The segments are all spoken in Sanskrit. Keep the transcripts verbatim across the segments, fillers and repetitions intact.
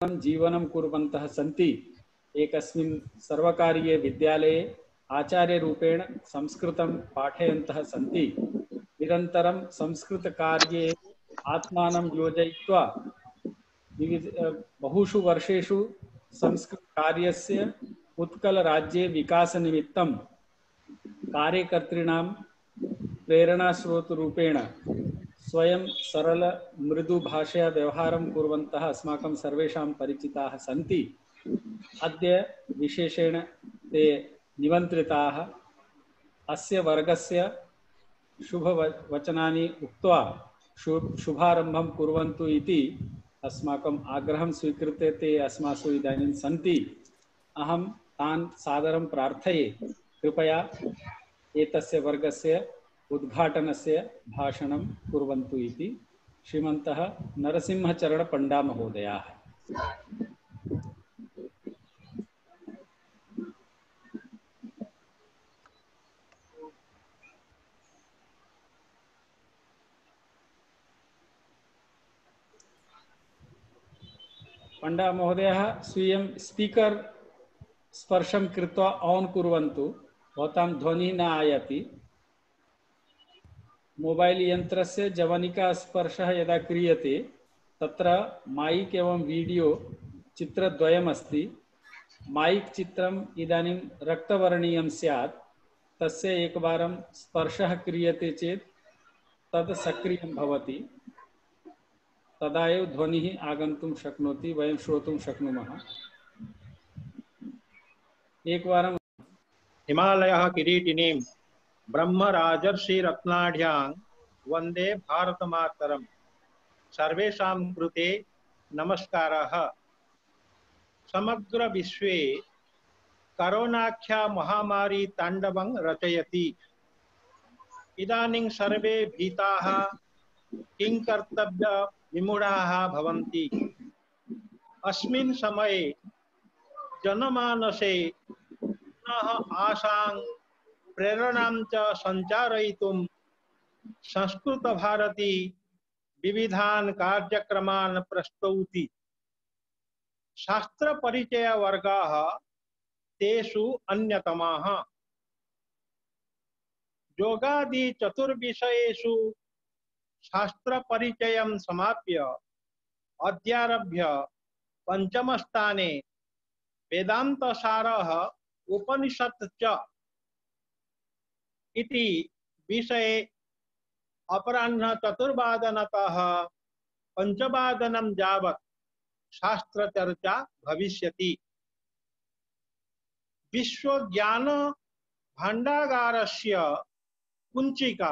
जीवनं कुर्वन्तः सन्ति। एकस्मिन् सर्वकारीय विद्यालये आचार्यरूपेण संस्कृतं पाठयन्तः सन्ति। निरन्तरं संस्कृतकार्ये आत्मानं योजयित्वा विविध बहुषु वर्षेषु संस्कृतकार्यस्य उत्कलराज्ये विकासनिमित्तं कार्यकर्तॄणां प्रेरणास्रोतरूपेण स्वयं सरल मृदु भाषया व्यवहारं कुर्वन्तः अस्माकं सर्वेषां परिचिताः सन्ति। अद्य विशेषेण ते निमन्त्रिताः अस्य वर्गस्य शुभवचनानि उक्त्वा शुभारम्भं कुर्वन्तु इति अस्माकम् आग्रहं स्वीकृत्य ते अस्मासु इदानीं सन्ति। अहं तान् सादरं प्रार्थये कृपया एतस्य वर्गस्य उद्घाटनस्य भाषणं कुर्वन्तु इति श्रीमन्तः नरसिंहचरण पंडा महोदयाः। पंडा महोदयः स्वीयं स्पीकर् स्पर्शं कृत्वा ऑन कुर्वन्तु। भवतां ध्वनिः न आयाति। मोबाइल यंत्रस्य जवनिका स्पर्शः यदा क्रियते तत्र माइक एवं वीडियो चित्रद्वयम् अस्ति। माइक चित्रम् इदानीं रक्तवर्णीयं स्यात्। तस्य एकवारं स्पर्शः क्रियते चेत् तद् सक्रियं भवति। तदा एव ध्वनिः आगन्तुं शक्नोति, वयं श्रोतुं शक्नुमः। एकवारं हिमालयः किरीटिनीं ब्रह्मराजर्षि रत्नाढ्यां वन्दे भारतमातरम्। सर्वेषां कृते नमस्कारः। समग्र विश्वे करोनाख्या महामारी ताण्डवं रचयति। इदानीं सर्वे भीताः, किं कर्तव्य विमूढाः भवन्ति। अस्मिन् समये जनमानसे पुनः आशां प्रेरणां च सञ्चारयितुं संस्कृत भारती विविधान् कार्यक्रमान् प्रस्तौति। शास्त्र परिचय वर्गाः तेषु अन्यतमाः। योगादि चतुर्विषयेषु शास्त्र परिचयं समाप्य अद्यारभ्य पंचमस्थाने वेदांत सारः उपनिषत् च इति विषये अपराह्न चतुर्वादनतः पंचवादनं यावत् शास्त्र चर्चा भविष्यति। विश्व ज्ञान भाण्डागारस्य कुञ्चिका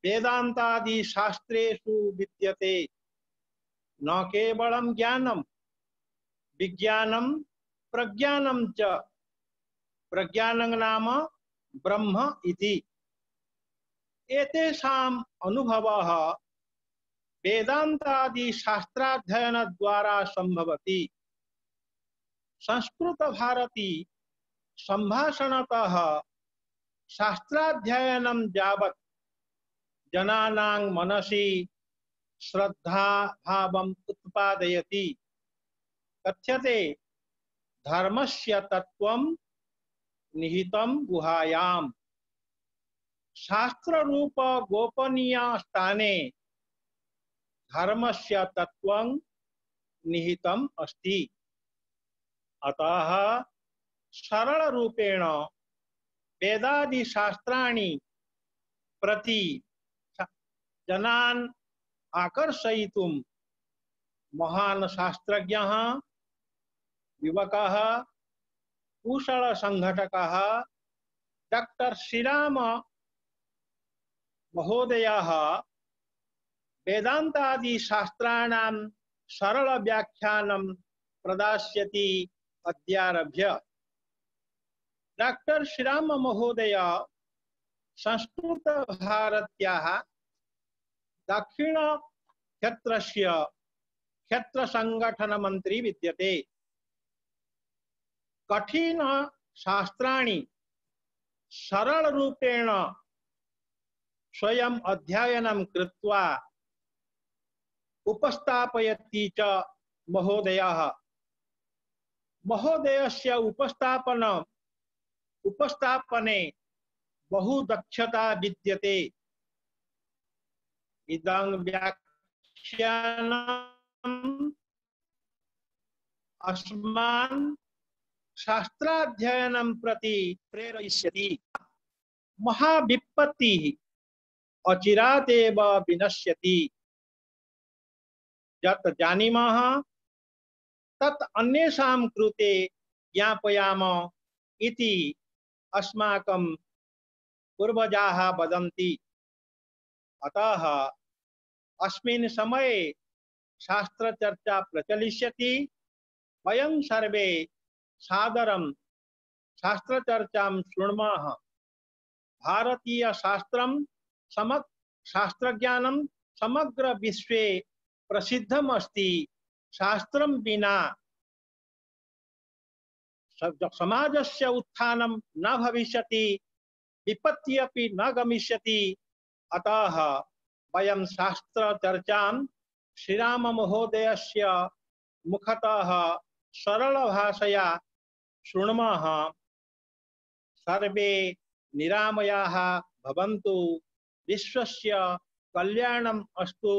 वेदान्तादि शास्त्रेषु विद्यते। न केवलं ज्ञानं विज्ञानं प्रज्ञानं च। प्रज्ञानं नाम ब्रह्म इति। एतेषाम् अनुभवः वेदान्तादि शास्त्राध्ययन द्वारा संभवति। संस्कृत भारती संभाषणतः शास्त्राध्ययनं यावत् जनानां मनसि श्रद्धा भावम् उत्पादयति। कथ्यते धर्मस्य तत्त्वं निहितं गुहायाम्। शास्त्र रूप गोपनीय स्थाने धर्मस्य तत्त्वं निहितम् अस्ति। अतः सरल रूपेण वेदादि शास्त्राणि प्रति जनान् आकर्षयितुं महान् शास्त्रज्ञः, युवकः, कुशल संघटकः डॉक्टर श्रीराम महोदयः वेदांतादि शास्त्राणां सरल व्याख्यानं प्रदास्यति अद्यारभ्य। डॉक्टर श्रीराम महोदय संस्कृत भारत्याः दक्षिण क्षेत्रस्य क्षेत्र संगठन मंत्री विद्यते। कठिन शास्त्राणि सरल रूपेण स्वयं अध्ययनं कृत्वा उपस्थापयति च महोदयाः, महोदयस्य उपस्थापन उपस्थापने बहु दक्षता विद्यते। इदं व्याख्यानम् अस्मान् शास्त्राध्ययनं प्रति प्रेरयिष्यति। महाविपत्तिः अचिरात् एव विनश्यति। यत् जानीमः तत् अन्येषां कृते ज्ञापयामः इति अस्माकं पूर्वजाः वदन्ति। अतः अस्मिन् समये शास्त्रचर्चा प्रचलिष्यति। वयं सर्वे सादरं शास्त्रचर्चां शृण्मः। भारतीय शास्त्रं समग्र शास्त्रज्ञानं समग्र विश्वे प्रसिद्धम् अस्ति। शास्त्रं विना समाजस्य उत्थानं न भविष्यति, विपत्तिः अपि न गमिष्यति। अतः वयं शास्त्रचर्चां श्रीराममहोदयस्य मुखतः सरलभाषया शृण्मः। सर्वे निरामयाः भवन्तु, विश्वस्य कल्याणम् अस्तु,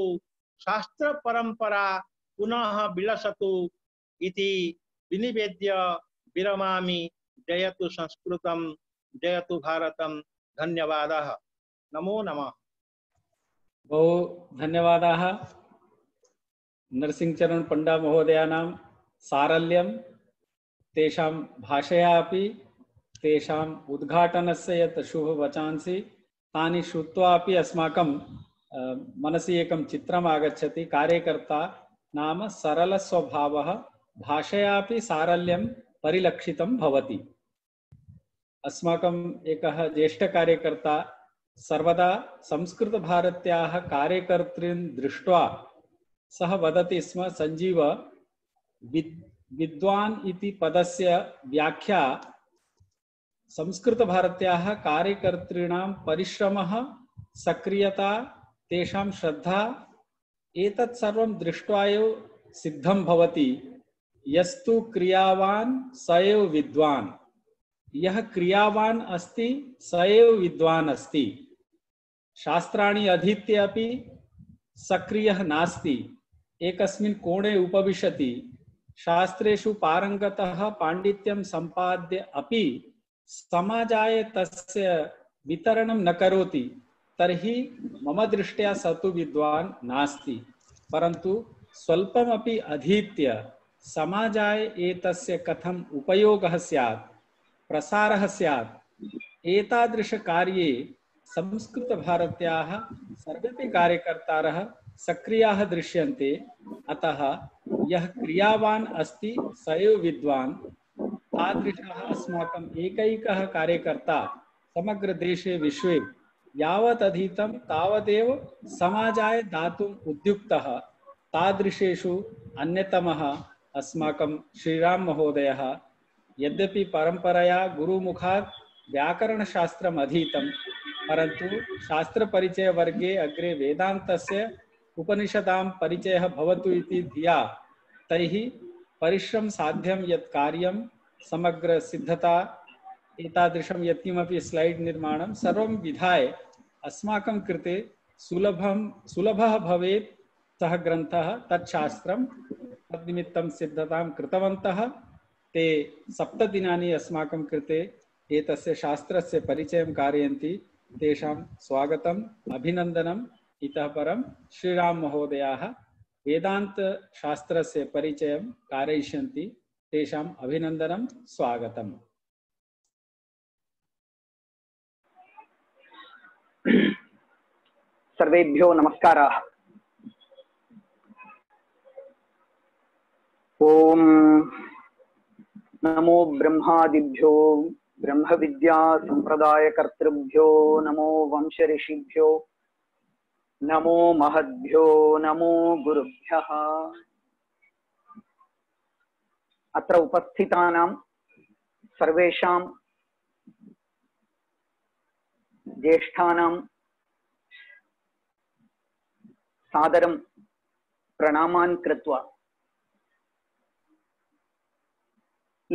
शास्त्र परंपरा पुनः विलसतु इति विनिवेद्य विरमामि। जयतु संस्कृतं, जयतु भारतं। धन्यवादः। नमो नमः। बहु धन्यवादाः नरसिंहचरण पंडा महोदयानां सारल्यं तेषां भाषया अपि तेषाम् उद्घाटनस्य यत् शुभवचांसि तानि श्रुत्वा अपि अस्माकं मनसि एकं चित्रम् आगच्छति। कार्यकर्ता नाम सरलस्वभावः, भाषयापि सारल्यं परिलक्षितं भवति। अस्माकं एकः ज्येष्ठकार्यकर्ता सर्वदा संस्कृतभारत्याः कार्यकर्तॄन् दृष्ट्वा सः वदति स्म, संजीव, विद् विद्वान् इति पदस्य व्याख्या संस्कृतभारत्याः कार्यकर्तॄणां परिश्रमः, सक्रियता, तेषां श्रद्धा, एतत् सर्वं दृष्ट्वा एव सिद्धं भवति। यस्तु क्रियावान् स एव विद्वान्। यः क्रियावान् अस्ति स एव विद्वान् अस्ति। शास्त्राणि अधीत्य अपि सक्रियः नास्ति, एकस्मिन् कोणे उपविशति, शास्त्रेषु पारंगतः पाण्डित्यं सम्पाद्य अपि समाजाय तस्य वितरणं न करोति, तर्हि मम दृष्ट्या स तु विद्वान् नास्ति। परन्तु स्वल्पमपि अधीत्य समाजाय एतस्य कथम् उपयोगः स्यात्, प्रसारः स्यात्, एतादृशकार्ये संस्कृतभारत्याः सर्वेपि कार्यकर्तारः सक्रियाः दृश्यन्ते। अतः यः क्रियावान् अस्ति स एव विद्वान्। तादृशः अस्माकम् एकैकः कार्यकर्ता समग्र देशे विश्वे यावत् अधीतं तावदेव समाजाय दातुम् उद्युक्तः। तादृशेषु अन्यतमः अस्माकं श्रीराम महोदयः। यद्यपि परंपरया गुरुमुखात् व्याकरणशास्त्रम् अधीतं, परन्तु शास्त्रपरिचयवर्गे अग्रे वेदान्तस्य उपनिषदां परिचयः भवतु इति धिया तैः परिश्रम साध्यं यत् कार्यं, समग्र सिद्धता, एतादृशं यत्किमपि स्लैड् निर्माणं सर्वं विधाय अस्माकं कृते सुलभं सुलभः भवेत् सः ग्रन्थः, तत् शास्त्रं, तद्निमित्तं सिद्धतां कृतवन्तः। ते सप्तदिनानि अस्माकं कृते एतस्य शास्त्रस्य परिचयं कारयन्ति। तेषां स्वागतम्, अभिनन्दनम्। इतः परं श्रीराम महोदयाः वेदांत शास्त्रस्य परिचयं कारयिष्यन्ति। तेषाम् अभिनन्दनं, स्वागतम्। सर्वेभ्यो नमस्काराः। ओम नमो ब्रह्मादिभ्यो ब्रह्म विद्या संप्रदाय कर्तृभ्यो नमो वंश ऋषिभ्यो नमो महद्भ्यो नमो गुरुभ्यः। अत्र उपस्थितानां सर्वेषां ज्येष्ठानां सादरं प्रणामान् कृत्वा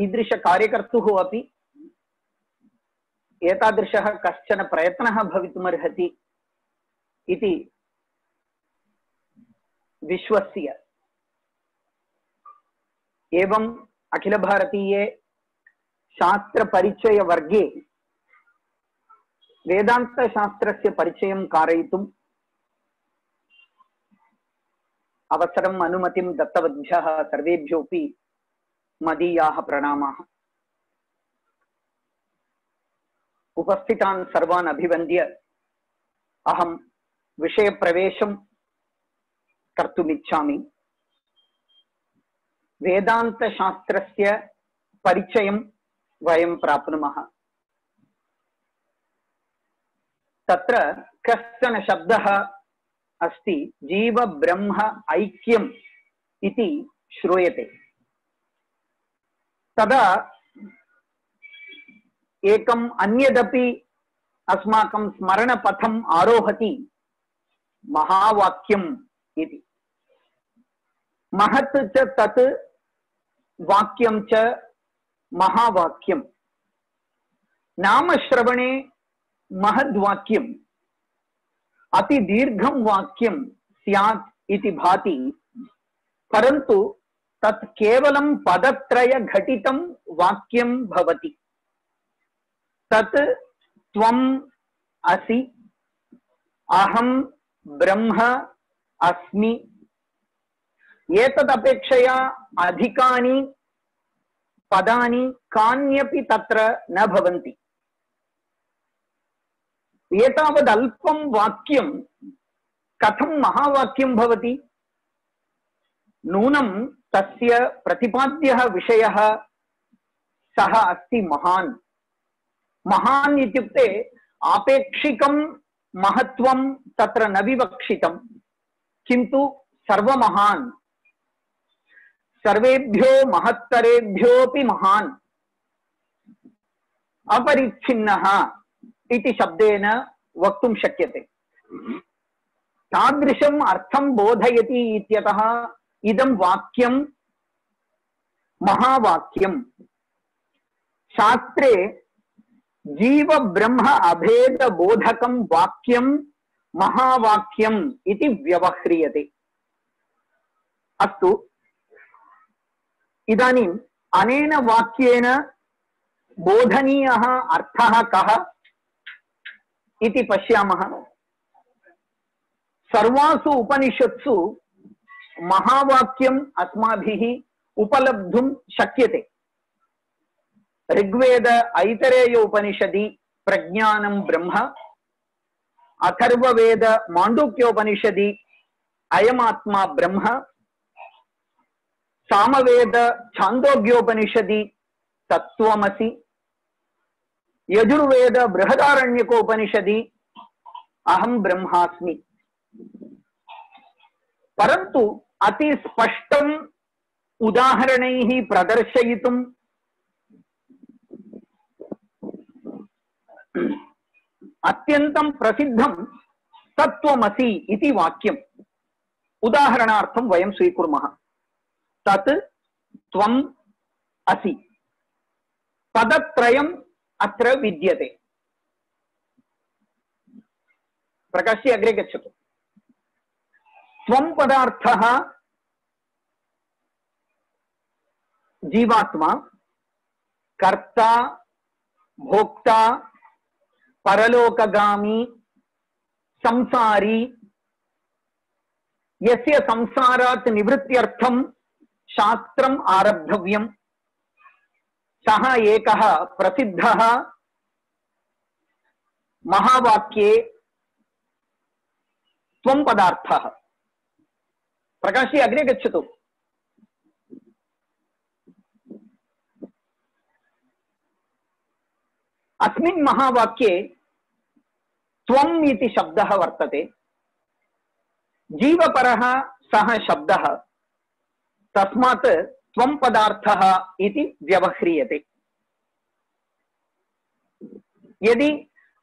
ईदृशकार्यकर्तुः अपि एतादृशः कश्चन प्रयत्नः भवितुमर्हति इति विश्वस्य। एवं अखिल भारतीये शास्त्र परिचय वर्गे वेदांत शास्त्रस्य परिचयं कारयितुं अवसरम् अनुमतिं दत्तवद्भ्यः सर्वेभ्योऽपि मदीयाः प्रणामाः। उपस्थितान् सर्वान् अभिवन्द्य अहं विषयप्रवेशं कर्तुमिच्छामि। वेदान्तशास्त्रस्य परिचयं वयं प्राप्नुमः। तत्र कश्चन शब्दः अस्ति, जीव ब्रह्म ऐक्यम् इति श्रूयते। तदा एकम् अन्यदपि अस्माकं स्मरणपथम् आरोहति, महावाक्यम् इति। महत् च तत् वाक्यं च महावाक्यम्। नामश्रवणे महद्वाक्यम् अति दीर्घं वाक्यं स्यात् इति भाति, परन्तु तत् केवलं पदत्रय घटितं वाक्यं भवति। तत् त्वम् असि, अहं ब्रह्म अस्मि, एतदपेक्षया अधिकानि पदानि कान्यपि तत्र न भवन्ति। एतावदल्पं वाक्यं कथं महावाक्यं भवति? नूनं तस्य प्रतिपाद्यः विषयः सः अस्ति महान्। महान् इत्युक्ते आपेक्षिकं महत्त्वं तत्र न विवक्षितं, किन्तु सर्वमहान्, सर्वेभ्यो महत्तरेभ्योऽपि महान्, अपरिच्छिन्नः इति शब्देन वक्तुं शक्यते। तादृशम् अर्थं बोधयति इत्यतः इदं वाक्यं महावाक्यम्। शास्त्रे जीव ब्रह्म अभेद बोधकं वाक्यं महावाक्यम् इति व्यवह्रियते। अस्तु, इदानीम् अनेन वाक्येन बोधनीयः अर्थः कः इति पश्यामः। सर्वासु उपनिषत्सु महावाक्यम् अस्माभिः उपलब्धुं शक्यते। ऋग्वेद ऐतरेय उपनिषदि प्रज्ञानं ब्रह्म, अथर्ववेद माण्डूक्योपनिषदि अयमात्मा ब्रह्म, सामवेद छान्दोग्योपनिषदि तत्त्वमसि, यजुर्वेद बृहदारण्यकोपनिषदि अहं ब्रह्मास्मि। परन्तु अति स्पष्टम् उदाहरणैः प्रदर्शयितुं अत्यन्तं प्रसिद्धं तत्त्वमसि इति वाक्यम् उदाहरणार्थं वयं स्वीकुर्मः। तत् त्वम् असि। पदत्रयम् अत्र विद्यते। प्रकाश्य अग्रे गच्छतु। त्वं पदार्थः जीवात्मा, कर्ता, भोक्ता, परलोकगामी, संसारी, यस्य संसारात् निवृत्त्यर्थं शास्त्रम् आरब्धव्यम्, सः एकः प्रसिद्धः महावाक्ये त्वं पदार्थः। प्रकाशी अग्रे गच्छतु। अस्मिन् महावाक्ये त्वम् इति शब्दः वर्तते। जीवपरः सः शब्दः, तस्मात् त्वं पदार्थः इति व्यवह्रियते। यदि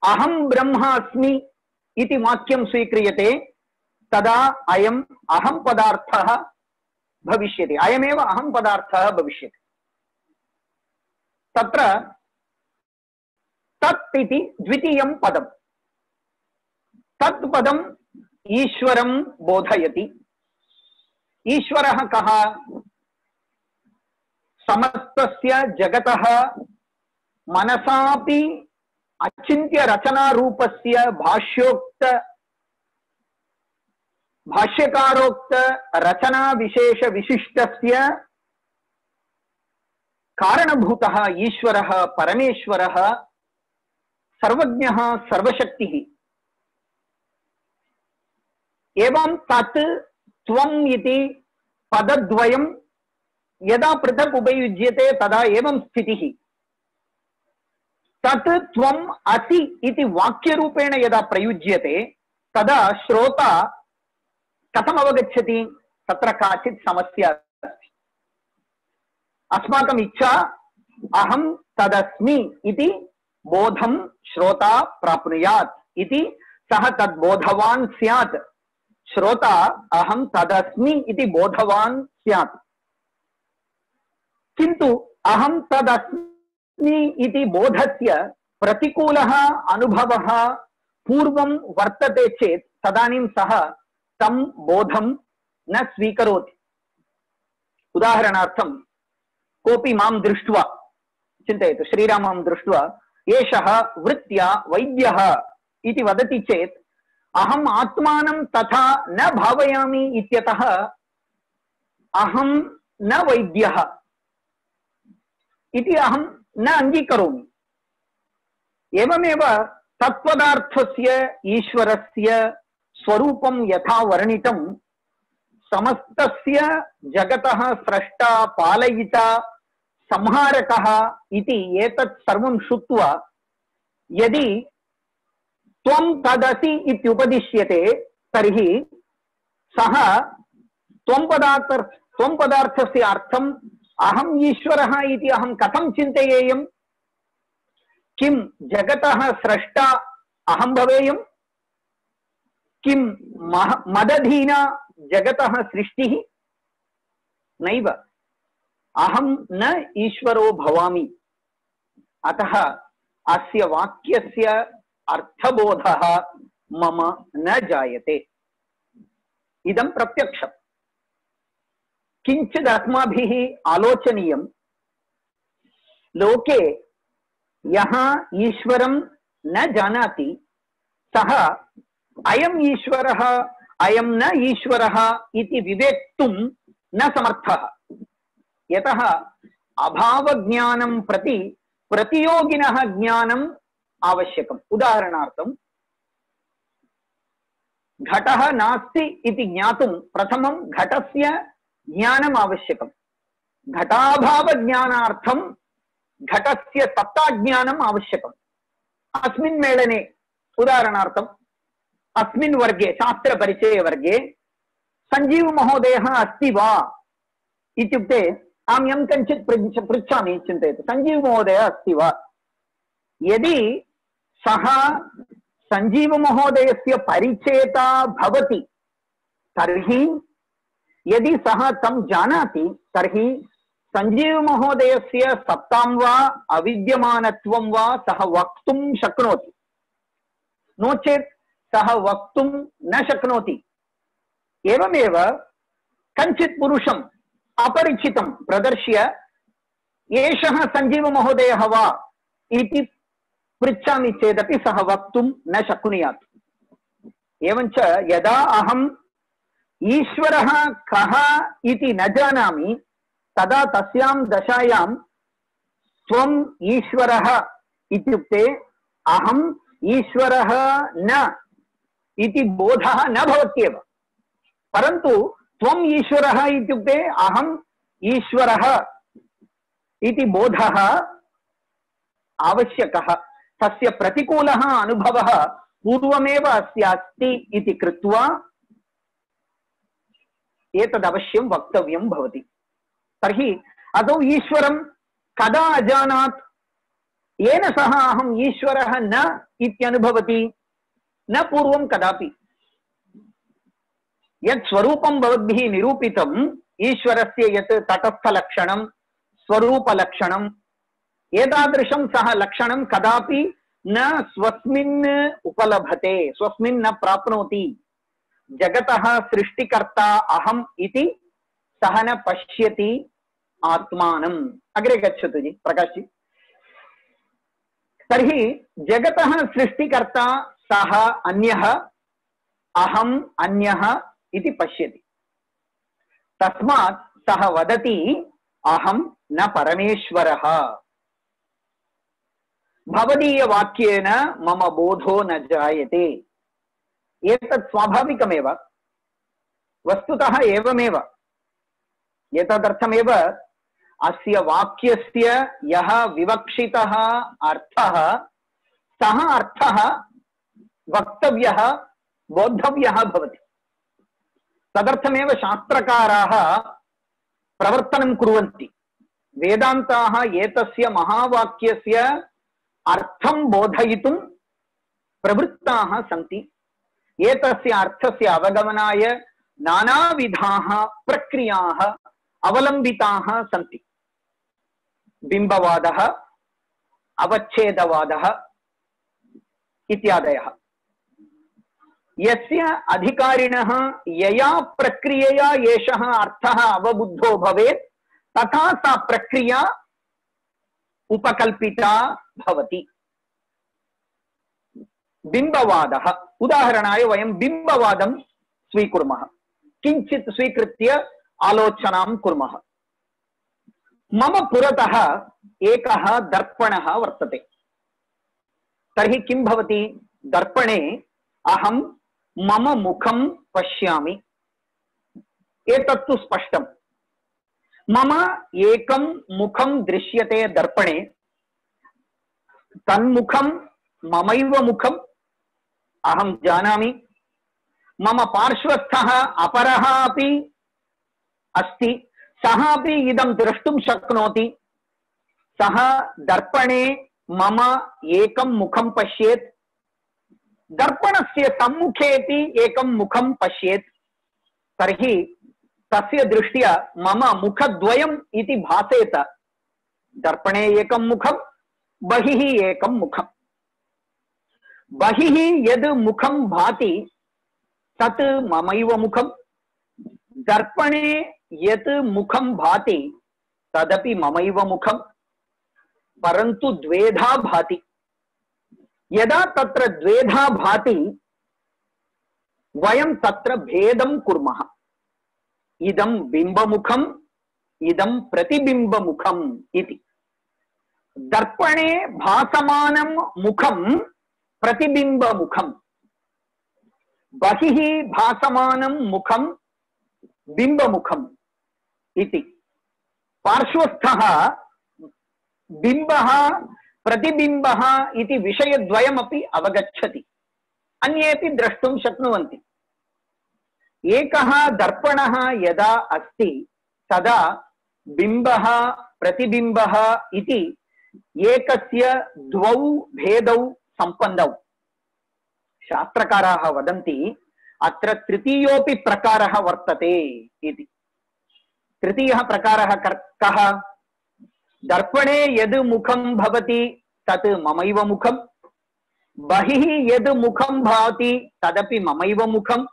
अहं ब्रह्मास्मि इति वाक्यं स्वीक्रियते, तदा अयम् अहं पदार्थः भविष्यति। अयमेव अहं पदार्थः भविष्यति। तत्र तत् इति द्वितीयं पदम्। तत् पदम् ईश्वरं बोधयति। ईश्वरः कः? समस्तस्य जगतः मनसापि अचिन्त्य रचनारूपस्य भाष्योक्त भाष्यकारोक्त रचना विशेष विशिष्टस्य कारणभूतः ईश्वरः परमेश्वरः सर्वज्ञः सर्वशक्तिः। एवं तत् त्वम् इति पदद्वयं यदा पृथक् उपयुज्यते तदा एवं स्थितिः। तत् त्वम् असि इति वाक्यरूपेण यदा प्रयुज्यते तदा श्रोता कथम् अवगच्छति? तत्र काचित् समस्या अस्ति। अस्माकम् इच्छा अहं तदस्मि इति बोधं श्रोता प्राप्नुयात् इति, सः तद्बोधवान् स्यात्। श्रोता अहं तदस्मि इति बोधवान् स्यात्, किन्तु अहं तदस्मि इति बोधस्य प्रतिकूलः अनुभवः पूर्वं वर्तते चेत् तदानीं सः तं बोधं न स्वीकरोति। उदाहरणार्थं कोऽपि मां दृष्ट्वा, चिन्तयतु, श्रीरामं दृष्ट्वा एषः वृत्त्या वैद्यः इति वदति चेत् अहम् आत्मानं तथा न भावयामि इत्यतः अहं न वैद्यः इति अहं न अङ्गीकरोमि। एवमेव तत्पदार्थस्य ईश्वरस्य स्वरूपं यथा वर्णितं, समस्तस्य जगतः स्रष्टा पालयिता संहारकः इति एतत् सर्वं श्रुत्वा यदि त्वं तदसि इत्युपदिश्यते तर्हि सः त्वं पदार्थ त्वं पदार्थस्य अर्थम् अहम् ईश्वरः इति अहं कथं चिन्तयेयम्? किं जगतः स्रष्टा अहं भवेयम्? किं मदधीना जगतः सृष्टिः? नैव, अहं न ईश्वरो भवामि। अतः अस्य वाक्यस्य अर्थबोधः मम न जायते। इदं प्रत्यक्षम्। किञ्चित् अस्माभिः आलोचनीयं, लोके यः ईश्वरं न जानाति सः अयम् ईश्वरः अयं न ईश्वरः इति विवेक्तुं न समर्थः। यतः अभावज्ञानं प्रति प्रतियोगिनः ज्ञानम् आवश्यकम्। उदाहरणार्थं घटः नास्ति इति ज्ञातुं प्रथमं घटस्य ज्ञानम् आवश्यकम्। घटाभावज्ञानार्थं घटस्य सत्ताज्ञानम् आवश्यकम्। अस्मिन् मेलने उदाहरणार्थम् अस्मिन् वर्गे शास्त्रपरिचय वर्गे संजीव महोदयः अस्ति वा इत्युक्ते अहं यं कञ्चित् पृच्छामि, चिन्तयतु, संजीव महोदयः अस्ति वा? यदि सः संजीव महोदयस्य परिचेता भवति तर्हि, यदि सः तं जानाति तर्हि संजीव महोदयस्य सत्तां वा अविद्यमानत्वं वा सः वक्तुं शक्नोति। नो चेत् सः वक्तुं न शक्नोति। एवमेव कञ्चित् पुरुषम् अपरिचितं प्रदर्श्य एषः संजीव महोदयः वा इति पृच्छामि चेदपि सः वक्तुं न शक्नुयात्। एवञ्च यदा अहम् ईश्वरः कः इति न जानामि तदा तस्यां दशायां त्वम् ईश्वरः इत्युक्ते अहम् ईश्वरः न इति बोधः न भवत्येव। परन्तु त्वम् ईश्वरः इत्युक्ते अहम् ईश्वरः इति बोधः आवश्यकः। तस्य प्रतिकूलः अनुभवः पूर्वमेव अस्य अस्ति इति कृत्वा एतदवश्यं वक्तव्यं भवति। तर्हि अदौ ईश्वरं कदा अजानात्? येन सह अहम् ईश्वरः न इत्यनुभवति? न पूर्वं कदापि। यत् स्वरूपं भवद्भिः निरूपितम् ईश्वरस्य, यत् तटस्थलक्षणं स्वरूपलक्षणं एतादृशं सः लक्षणं कदापि न स्वस्मिन् उपलभते, स्वस्मिन् न प्राप्नोति। जगतः सृष्टिकर्ता अहम् इति सः न पश्यति आत्मानम्। अग्रे गच्छतु जी प्रकाश जी। तर्हि जगतः सृष्टिकर्ता सः अन्यः, अहम् अन्यः इति पश्यति। तस्मात् सः वदति अहं न परमेश्वरः। भवदीय वाक्येन मम बोधो न जायते। एतत् स्वाभाविकमेव, वस्तुतः एवमेव। एतदर्थमेव अस्य वाक्यस्य यः विवक्षितः अर्थः सः अर्थः वक्तव्यः, बोद्धव्यः भवति। तदर्थमेव शास्त्रकाराः प्रवर्तनं कुर्वन्ति। वेदान्ताः एतस्य महावाक्यस्य अर्थं बोधयितुं प्रवृत्ताः सन्ति। एतस्य अर्थस्य अवगमनाय नानाविधाः प्रक्रियाः अवलम्बिताः सन्ति। बिम्बवादः, अवच्छेदवादः इत्यादयः। यस्य अधिकारिणः यया प्रक्रियया एषः अर्थः अवबुद्धो भवेत् तथा सा प्रक्रिया उपकल्पिता भवति। बिम्बवादः, उदाहरणाय वयं बिम्बवादं स्वीकुर्मः। किञ्चित् स्वीकृत्य आलोचनां कुर्मः। मम पुरतः एकः दर्पणः वर्तते। तर्हि किं भवति? दर्पणे अहं मम मुखं पश्यामि। एतत्तु स्पष्टम्। मम एकं मुखं दृश्यते दर्पणे। तन्मुखं ममैव मुखम् अहं जानामि। मम पार्श्वस्थः अपरः अपि अस्ति, सः अपि इदं द्रष्टुं शक्नोति। सः दर्पणे मम एकं मुखं पश्येत्, दर्पणस्य सम्मुखेपि एकं मुखं पश्येत्। तर्हि तस्य दृष्ट्या मम मुखद्वयम् इति भासेत। दर्पणे एकं मुखं, बहिः एकं मुखम्। बहिः यद् मुखं भाति तत् ममैव मुखम्। दर्पणे यत् मुखं भाति तदपि ममैव मुखम्। परन्तु द्वेधा भाति। यदा तत्र द्वेधा भाति वयं तत्र भेदं कुर्मः। इदं बिम्बमुखम्, इदं प्रतिबिम्बमुखम् इति। दर्पणे भासमानं मुखं प्रतिबिम्बमुखम्, बहिः भासमानं मुखं बिम्बमुखम् इति। पार्श्वस्थः बिम्बः प्रतिबिम्बः इति विषयद्वयमपि अवगच्छति, अन्येपि द्रष्टुं शक्नुवन्ति। एकः दर्पणः यदा अस्ति तदा बिम्बः प्रतिबिम्बः इति एकस्य द्वौ भेदौ सम्पन्नौ। शास्त्रकाराः वदन्ति अत्र तृतीयोऽपि प्रकारः वर्तते इति। तृतीयः प्रकारः कः? दर्पणे यद् मुखं भवति तत् ममैव मुखम्, बहिः यद् मुखं भाति तदपि ममैव मुखम्।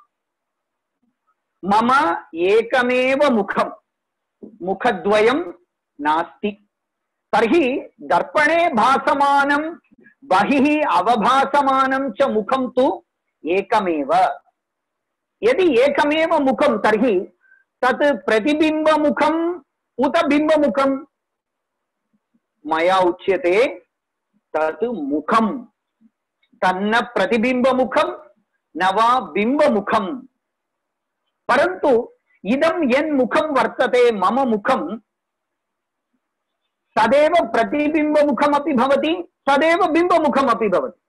मम एकमेव मुखं, मुखद्वयं नास्ति। तर्हि दर्पणे भासमानं बहिः अवभासमानं च मुखं तु एकमेव। यदि एकमेव मुखं तर्हि तत् प्रतिबिम्बमुखम् उत बिम्बमुखम्? मया उच्यते तत् मुखं, तन्न प्रतिबिम्बमुखं न वा बिम्बमुखं। परन्तु इदं यन्मुखं वर्तते मम मुखं तदेव प्रतिबिम्बमुखमपि भवति, तदेव बिम्बमुखमपि भवति।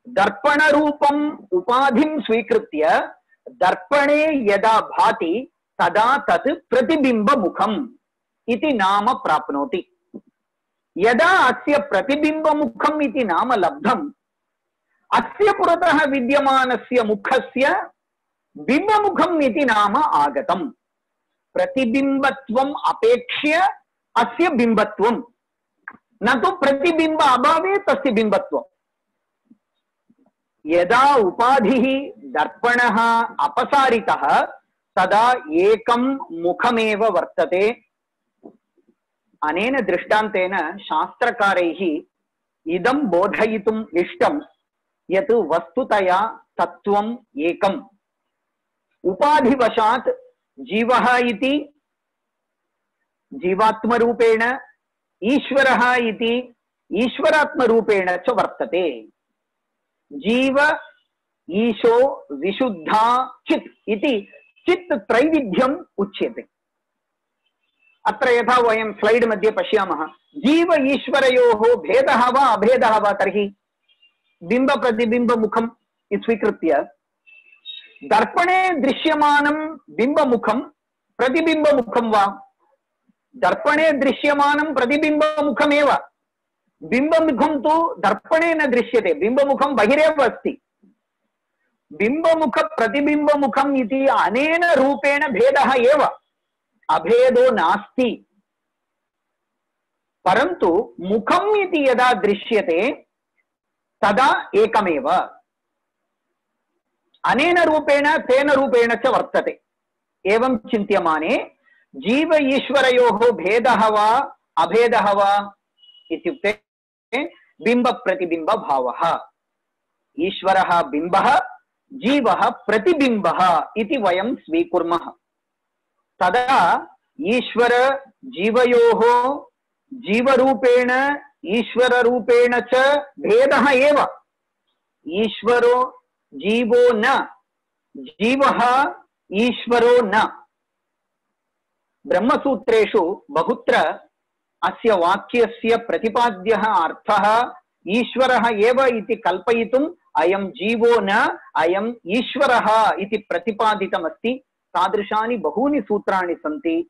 दर्पणरूपम् उपाधिं स्वीकृत्य दर्पणे यदा भाति तदा तत् प्रतिबिम्बमुखम् इति नाम प्राप्नोति। यदा अस्य प्रतिबिम्बमुखम् इति नाम लब्धम्, अस्य पुरतः विद्यमानस्य मुखस्य बिम्बमुखम् इति नाम आगतम्। प्रतिबिम्बत्वम् अपेक्ष्य अस्य बिम्बत्वम् न तु प्रतिबिंब अभावे तस्य बिंबत्वम्। यदा उपाधिः दर्पणः अपसारितः तदा एकं मुखमेव वर्तते। अनेन दृष्टान्तेन शास्त्रकारैः इदं बोधयितुम् इष्टं यत् वस्तुतया तत्त्वम् एकम्। उपाधिवशात् जीवः इति जीवात्मरूपेण, ईश्वरः इति ईश्वरात्मरूपेण च वर्तते। जीव ईशो विशुद्धा चित् इति चित् त्रैविध्यम् उच्यते। अत्र यथा वयं स्लैड् मध्ये पश्यामः, जीव ईश्वरयोः भेदः वा अभेदः वा, तर्हि बिंब प्रतिबिंब मुखं स्वीकृत्य दर्पणे दृश्यमानं बिंबमुखं प्रतिबिंबमुखं वा? दर्पणे दृश्यमानं प्रतिबिंबमुखमेव, बिंबमुखं तु दर्पणे न दृश्यते, बिंबमुखं बहिरेव अस्ति। बिंबमुख प्रतिबिंबमुखम् इति अनेन रूपेण भेदः एव, अभेदो नास्ति। परन्तु मुखम् इति यदा दृश्यते तदा एकमेव, अनेन रूपेण तेन रूपेण च वर्तते। एवं चिन्त्यमाने जीव ईश्वरयोः भेदः वा अभेदः वा इत्युक्ते बिंब प्रतिबिंब भावः। ईश्वरः बिंबः, जीवः प्रतिबिंबः इति वयं स्वीकुर्मः। तदा ईश्वर जीवयोः जीवरूपेण ईश्वररूपेण च भेदः एव। ईश्वरो जीवो न, जीवः ईश्वरो न। ब्रह्मसूत्रेषु बहुत्र अस्य वाक्यस्य प्रतिपाद्यः अर्थः ईश्वरः एव इति कल्पयितुम् अयं जीवो न अयं ईश्वरः इति प्रतिपादितमस्ति। तादृशानि बहूनि सूत्राणि सन्ति,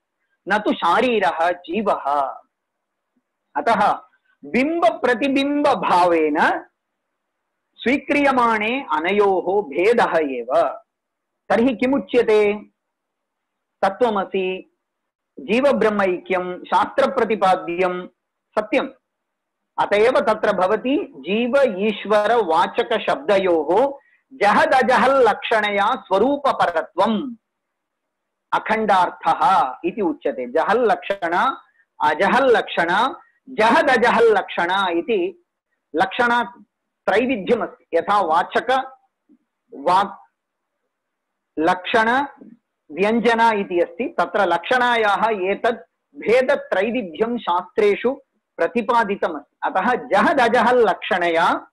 न तु शारीरः जीवः। अतः बिंब प्रतिबिंब भावेन स्वीक्रियमाणे अनयोः भेदः एव। तर्हि किमुच्यते? तत्त्वमसि जीव ब्रह्मैक्यं शास्त्र प्रतिपाद्यं सत्यम्। अतएव तत्र भवति जीव ईश्वर वाचक शब्दयोः जहदजहल् लक्षणया स्वरूपपरत्वम् अखण्डार्थः इति उच्यते। जहल् लक्षण अजहल् लक्षण जहदजहल् लक्षण इति लक्षण त्रैविध्यमस्ति। यथा वाचक वाक् लक्षण व्यंजन इति अस्ति, तत्र लक्षणायाः एतद् भेद त्रैविध्यं शास्त्रेषु प्रतिपादितमस्ति। अतः जहदजहल् लक्षणया,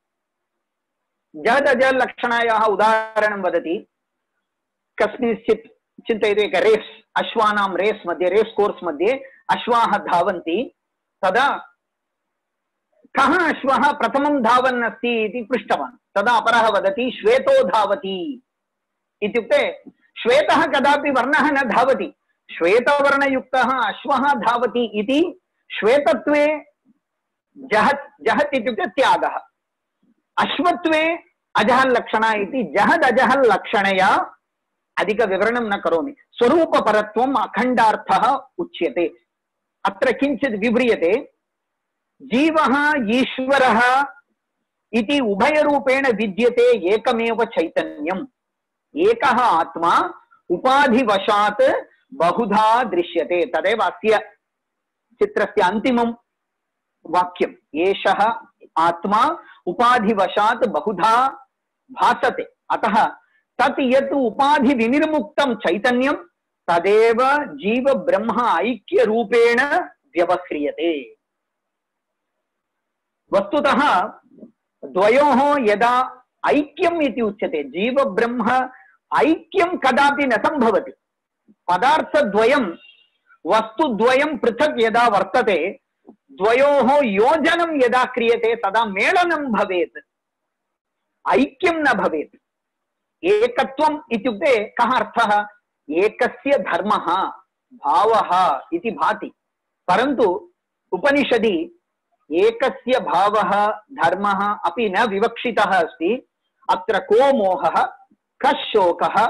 जहदजहल् लक्षणायाः उदाहरणं वदति। कस्मिंश्चित् चिन्तयतु, एक रेस्, अश्वानां रेस् मध्ये, रेस् कोर्स् मध्ये अश्वाः धावन्ति। तदा कः अश्वः प्रथमं धावन् अस्ति इति पृष्टवान्। तदा अपरः वदति श्वेतो धावति। इत्युक्ते श्वेतः कदापि वर्णः न धावति, श्वेतवर्णयुक्तः अश्वः धावति इति श्वेतत्वे जहत्, जहत् इत्युक्ते त्यागः, अश्वत्वे अजहल् लक्षण इति जहद् अजहल् लक्षणया अधिक विवरणं न करोमि। स्वरूपपरत्वम् अखण्डार्थः उच्यते। अत्र किञ्चित् विव्रियते। जीवः ईश्वरः इति उभयरूपेण विद्यते एकमेव चैतन्यम्। एकः आत्मा उपाधिवशात् बहुधा दृश्यते। तदेव अस्य चित्रस्य अन्तिमं वाक्यम्। एषः आत्मा उपाधिवशात् बहुधा भासते। अतः तत् यत् उपाधि विनिर्मुक्तं चैतन्यं तदेव जीव ब्रह्म ऐक्य रूपेण व्यवह्रियते। वस्तुतः द्वयोः यदा ऐक्यम् इति उच्यते, जीव ब्रह्म ऐक्यं कदापि न संभवति। पदार्थद्वयं वस्तुद्वयं पृथक् यदा वर्तते, द्वयोः योजनं यदा क्रियते तदा मेलनं भवेत्, ऐक्यं न भवेत्। एकत्वम् इत्युक्ते कः अर्थः? एकस्य धर्मः भावः इति भाति। परन्तु उपनिषदि एकस्य भावः धर्मः अपि न विवक्षितः अस्ति। अत्र को मोहः, कः शोकः,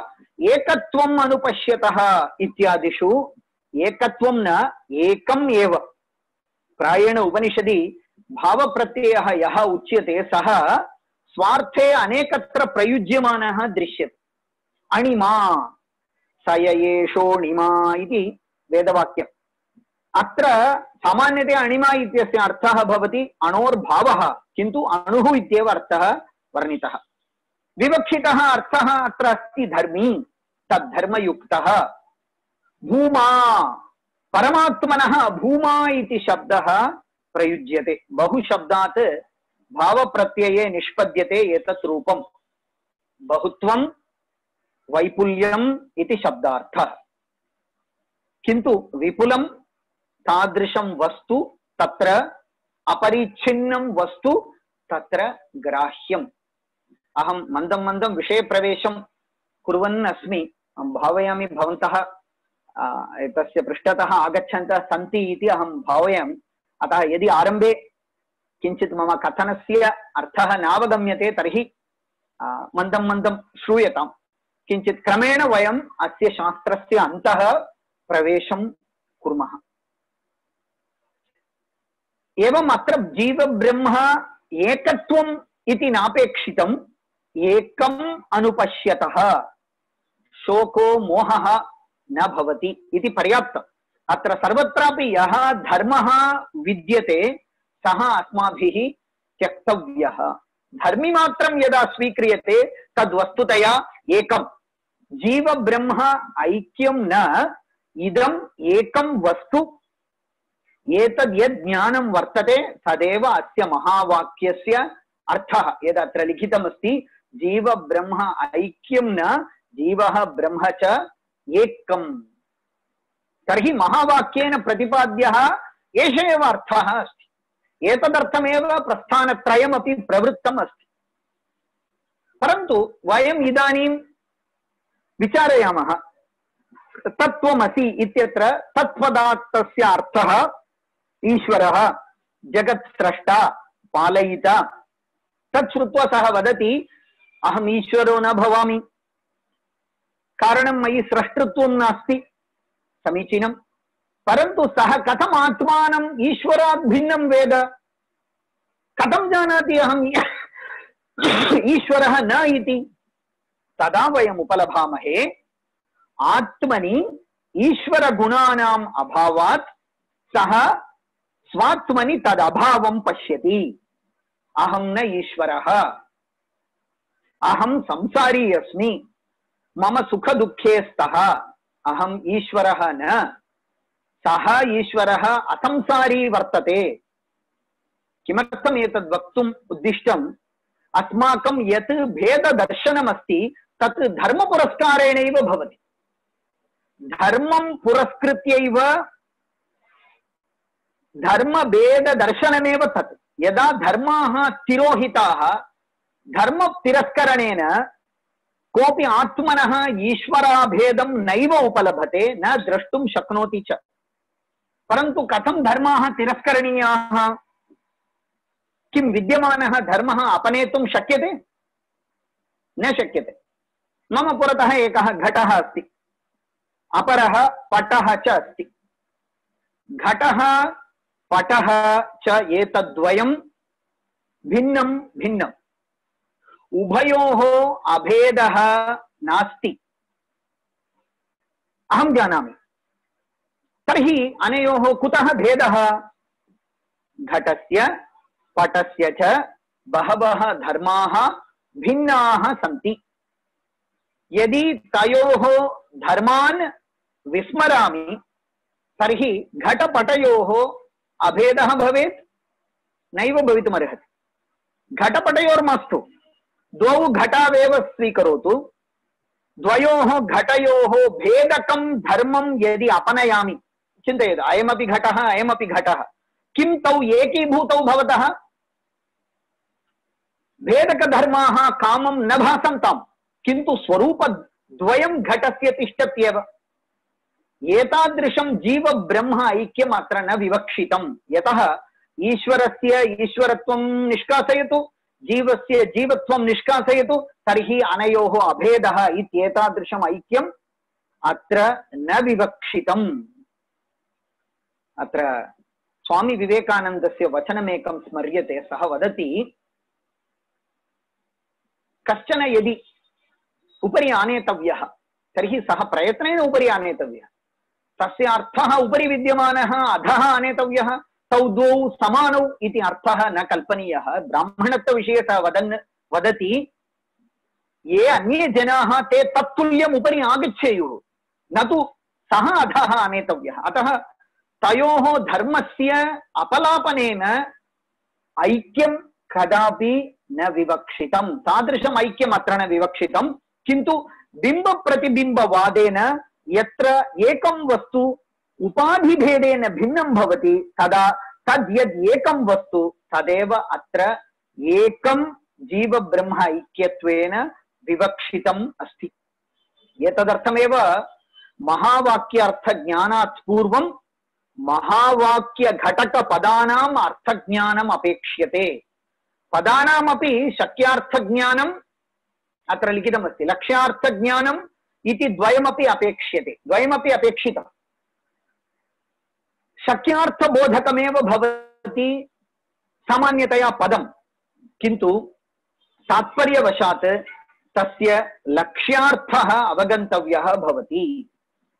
एकत्वम् अनुपश्यतः इत्यादिषु एकत्वं न एकम् एव। प्रायेण उपनिषदि भावप्रत्ययः यः उच्यते सः स्वार्थे अनेकत्र प्रयुज्यमानः दृश्यते। अणिमा सययेषोणिमा इति वेदवाक्यम्। अत्र सामान्यतया अणिमा इत्यस्य अर्थः भवति अणोर्भावः, किन्तु अणुः इत्येव अर्थः वर्णितः। विवक्षितः अर्थः अत्र अस्ति धर्मी, तद्धर्मयुक्तः। भूमा, परमात्मनः भूमा इति शब्दः प्रयुज्यते। बहुशब्दात् भावप्रत्यये निष्पद्यते एतत् रूपम्। बहुत्वं वैपुल्यम् इति शब्दार्थः, किन्तु विपुलं तादृशं वस्तु तत्र अपरिच्छिन्नं वस्तु तत्र ग्राह्यम्। अहं मन्दं मन्दं विषयप्रवेशं कुर्वन् अस्मि। भावयामि भवन्तः एतस्य पृष्ठतः आगच्छन्तः सन्ति इति अहं भावयामि। अतः यदि आरम्भे किञ्चित् मम कथनस्य अर्थः नावगम्यते तर्हि मन्दं मन्दं श्रूयताम्। किञ्चित् क्रमेण वयम् अस्य शास्त्रस्य अन्तः प्रवेशं कुर्मः। एवम् अत्र जीवब्रह्म एकत्वम् इति नापेक्षितम्, एकम् अनुपश्यतः शोको मोहः न भवति इति पर्याप्तम्। अत्र सर्वत्रापि यः धर्मः विद्यते सः अस्माभिः त्यक्तव्यः। धर्मिमात्रं यदा स्वीक्रियते तद्वस्तुतया एकम्। जीव ब्रह्म ऐक्यं न, इदम् एकं वस्तु। एतद् यद् ज्ञानं वर्तते तदेव अस्य महावाक्यस्य अर्थः। यदत्र लिखितमस्ति जीव ब्रह्म ऐक्यं न, जीवः ब्रह्म च एकम्। तर्हि महावाक्येन प्रतिपाद्यः एष एव अर्थः अस्ति। एतदर्थमेव प्रस्थानत्रयमपि प्रवृत्तम् अस्ति। परन्तु वयम् इदानीं विचारयामः। तत्त्वमसि इत्यत्र तत्पदार्थस्य अर्थः ईश्वरः, जगत् स्रष्टा, पालयिता। तत् श्रुत्वा सः वदति अहम् ईश्वरो न भवामि, कारणं मयि स्रष्टृत्वं नास्ति। समीचीनं, परन्तु सः कथम् आत्मानम् ईश्वरात् भिन्नं वेद? कथं जानाति अहम् ईश्वरः न इति? तदा वयम् उपलभामहे आत्मनि ईश्वरगुणानाम् अभावात् सः स्वात्मनि तदभावं पश्यति। अहं न ईश्वरः, अहं संसारी अस्मि, मम सुखदुःखे स्तः, अहम् ईश्वरः न। सः ईश्वरः असंसारी वर्तते। किमर्थम् एतद् वक्तुम् उद्दिष्टम्? अस्माकं यत् भेददर्शनमस्ति तत् धर्मपुरस्कारेणैव भवति। धर्मं पुरस्कृत्यैव धर्मभेददर्शनमेव तत्। यदा धर्माः तिरोहिताः, धर्मतिरस्करणेन कोऽपि आत्मनः ईश्वराभेदं नैव उपलभते, न द्रष्टुं शक्नोति च। परन्तु कथं धर्माः तिरस्करणीयाः? किं विद्यमानः धर्मः अपनेतुं शक्यते? न शक्यते। मम पुरतः एकः घटः अस्ति, अपरः पटः च अस्ति। घटः पटः च एतद्वयं भिन्नं भिन्नम्। उभयोः अभेदः नास्ति, अहं जानामि। तर्हि अनयोः कुतः भेदः? घटस्य पटस्य च बहवः धर्माः भिन्नाः सन्ति। यदि तयोः धर्मान् विस्मरामि तर्हि घटपटयोः अभेदः भवेत्? नैव भवितुमर्हति। घटपटयोर्मास्तु, द्वौ घटावेव स्वीकरोतु। द्वयोः घटयोः भेदकं धर्मं यदि अपनयामि, चिन्तयतु, अयमपि घटः अयमपि घटः, किं तौ एकीभूतौ भवतः? भेदकधर्माः कामं न भासन्ताम्, किन्तु स्वरूपद्वयं घटस्य तिष्ठत्येव। एतादृशं जीव ब्रह्म ऐक्यम् अत्र न विवक्षितम्। यतः ईश्वरस्य ईश्वरत्वं निष्कासयतु, जीवस्य जीवत्वं निष्कासयतु, तर्हि अनयोः अभेदः इत्येतादृशम् ऐक्यम् अत्र न विवक्षितम्। अत्र स्वामी विवेकानन्दस्य वचनमेकं स्मर्यते। सः वदति, कश्चन यदि उपरि आनेतव्यः तर्हि सः प्रयत्नेन उपरि आनेतव्यः। तस्य अर्थः उपरि विद्यमानः अधः आनेतव्यः, तौ द्वौ समानौ इति अर्थः न कल्पनीयः। ब्राह्मणत्वविषये सः वदन् वदति, ये अन्ये जनाः ते तत्तुल्यम् उपरि आगच्छेयुः, न तु सः अधः आनेतव्यः। अतः तयोः धर्मस्य अपलापनेन ऐक्यं कदापि न विवक्षितं। तादृशम् ऐक्यम् अत्र न विवक्षितं, किन्तु बिम्बप्रतिबिम्बवादेन यत्र एकं वस्तु उपाधिभेदेन भिन्नं भवति, तदा तद् यद् एकं वस्तु तदेव अत्र एकं जीवब्रह्म ऐक्यत्वेन विवक्षितम् अस्ति। एतदर्थमेव महावाक्यार्थज्ञानात् पूर्वं महावाक्यघटकपदानाम् अर्थज्ञानम् अपेक्ष्यते। पदानामपि शक्यार्थज्ञानम् अत्र लिखितमस्ति, लक्ष्यार्थज्ञानम् इति द्वयमपि अपेक्ष्यते, द्वयमपि अपेक्षितम्। शक्यार्थबोधकमेव भवति सामान्यतया पदं, किन्तु तात्पर्यवशात् तस्य लक्ष्यार्थः अवगन्तव्यः भवति।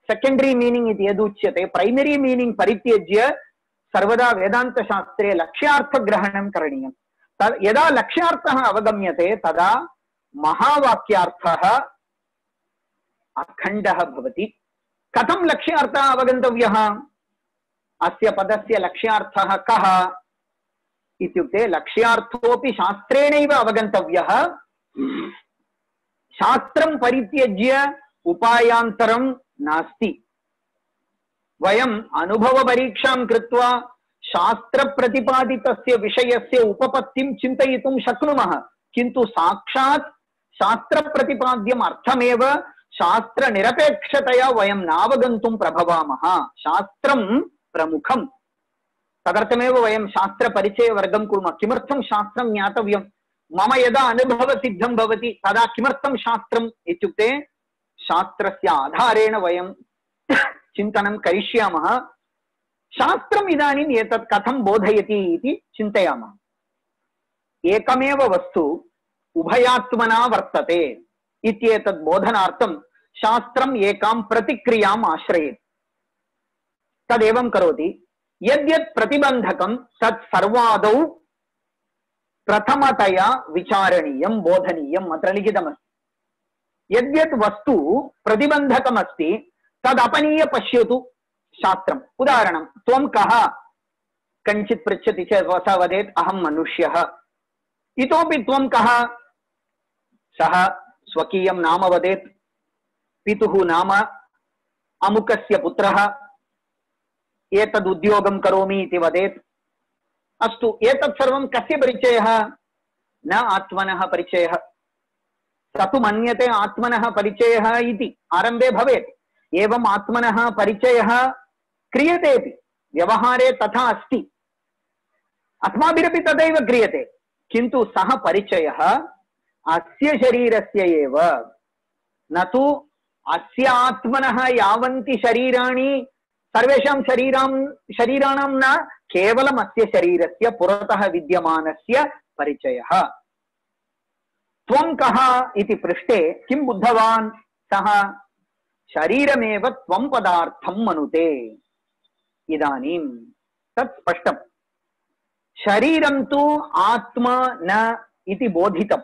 सेकेंडरी मीनिंग इति यदुच्यते, प्रैमरी मीनिंग परित्यज्य सर्वदा वेदान्तशास्त्रे लक्ष्यार्थग्रहणं करणीयम्। यदा लक्ष्यार्थः अवगम्यते तदा महावाक्यार्थः अखण्डः भवति। कथं लक्ष्यार्थः अवगन्तव्यः? अस्य पदस्य लक्ष्यार्थः कः इत्युक्ते लक्ष्यार्थोऽपि शास्त्रेणैव अवगन्तव्यः। शास्त्रं परित्यज्य उपायान्तरं नास्ति। वयम् अनुभवपरीक्षां कृत्वा शास्त्रप्रतिपादितस्य विषयस्य उपपत्तिं चिन्तयितुं शक्नुमः, किन्तु साक्षात् शास्त्रप्रतिपाद्यम् अर्थमेव शास्त्रनिरपेक्षतया वयं नावगन्तुं प्रभवामः। शास्त्रं प्रमुखम्। तदर्थमेव वयं शास्त्रपरिचयवर्गं कुर्मः। किमर्थं शास्त्रं ज्ञातव्यं? मम यदा अनुभवसिद्धं भवति तदा किमर्थं शास्त्रम् इत्युक्ते शास्त्रस्य आधारेण वयं चिन्तनं करिष्यामः। शास्त्रम् इदानीम् एतत् कथं बोधयति इति चिन्तयामः। एकमेव वस्तु उभयात्मना वर्तते इत्येतत् बोधनार्थं शास्त्रम् एकां प्रतिक्रियाम् आश्रयेत्। तदेवं करोति, यद्यत् प्रतिबन्धकं तत् सर्वादौ प्रथमतया विचारणीयं बोधनीयम् अत्र लिखितमस्ति। यद्यत् वस्तु प्रतिबन्धकमस्ति तदपनीय पश्यतु शास्त्रम्। उदाहरणं, त्वं कः कञ्चित् पृच्छति चेत् सः वदेत् अहं मनुष्यः। इतोपि त्वं कः? सः स्वकीयं नाम वदेत्, पितुः नाम, अमुकस्य पुत्रः, एतद् उद्योगं करोमि इति वदेत्। अस्तु, एतत् सर्वं कस्य परिचयः? न आत्मनः परिचयः। स तु मन्यते आत्मनः परिचयः इति आरम्भे भवेत्। एवम् आत्मनः परिचयः क्रियतेपि, व्यवहारे तथा अस्ति, अस्माभिरपि तदैव क्रियते, किन्तु सः परिचयः अस्य शरीरस्य एव, न तु अस्य आत्मनः यावन्ति शरीराणि सर्वेषां शरीरां शरीराणां न, केवलम् अस्य शरीरस्य पुरतः विद्यमानस्य परिचयः। त्वं कः इति पृष्टे किं बुद्धवान्? सः शरीरमेव त्वं पदार्थं मनुते। इदानीं तत् स्पष्टम्। शरीरं तु आत्मा न इति बोधितम्।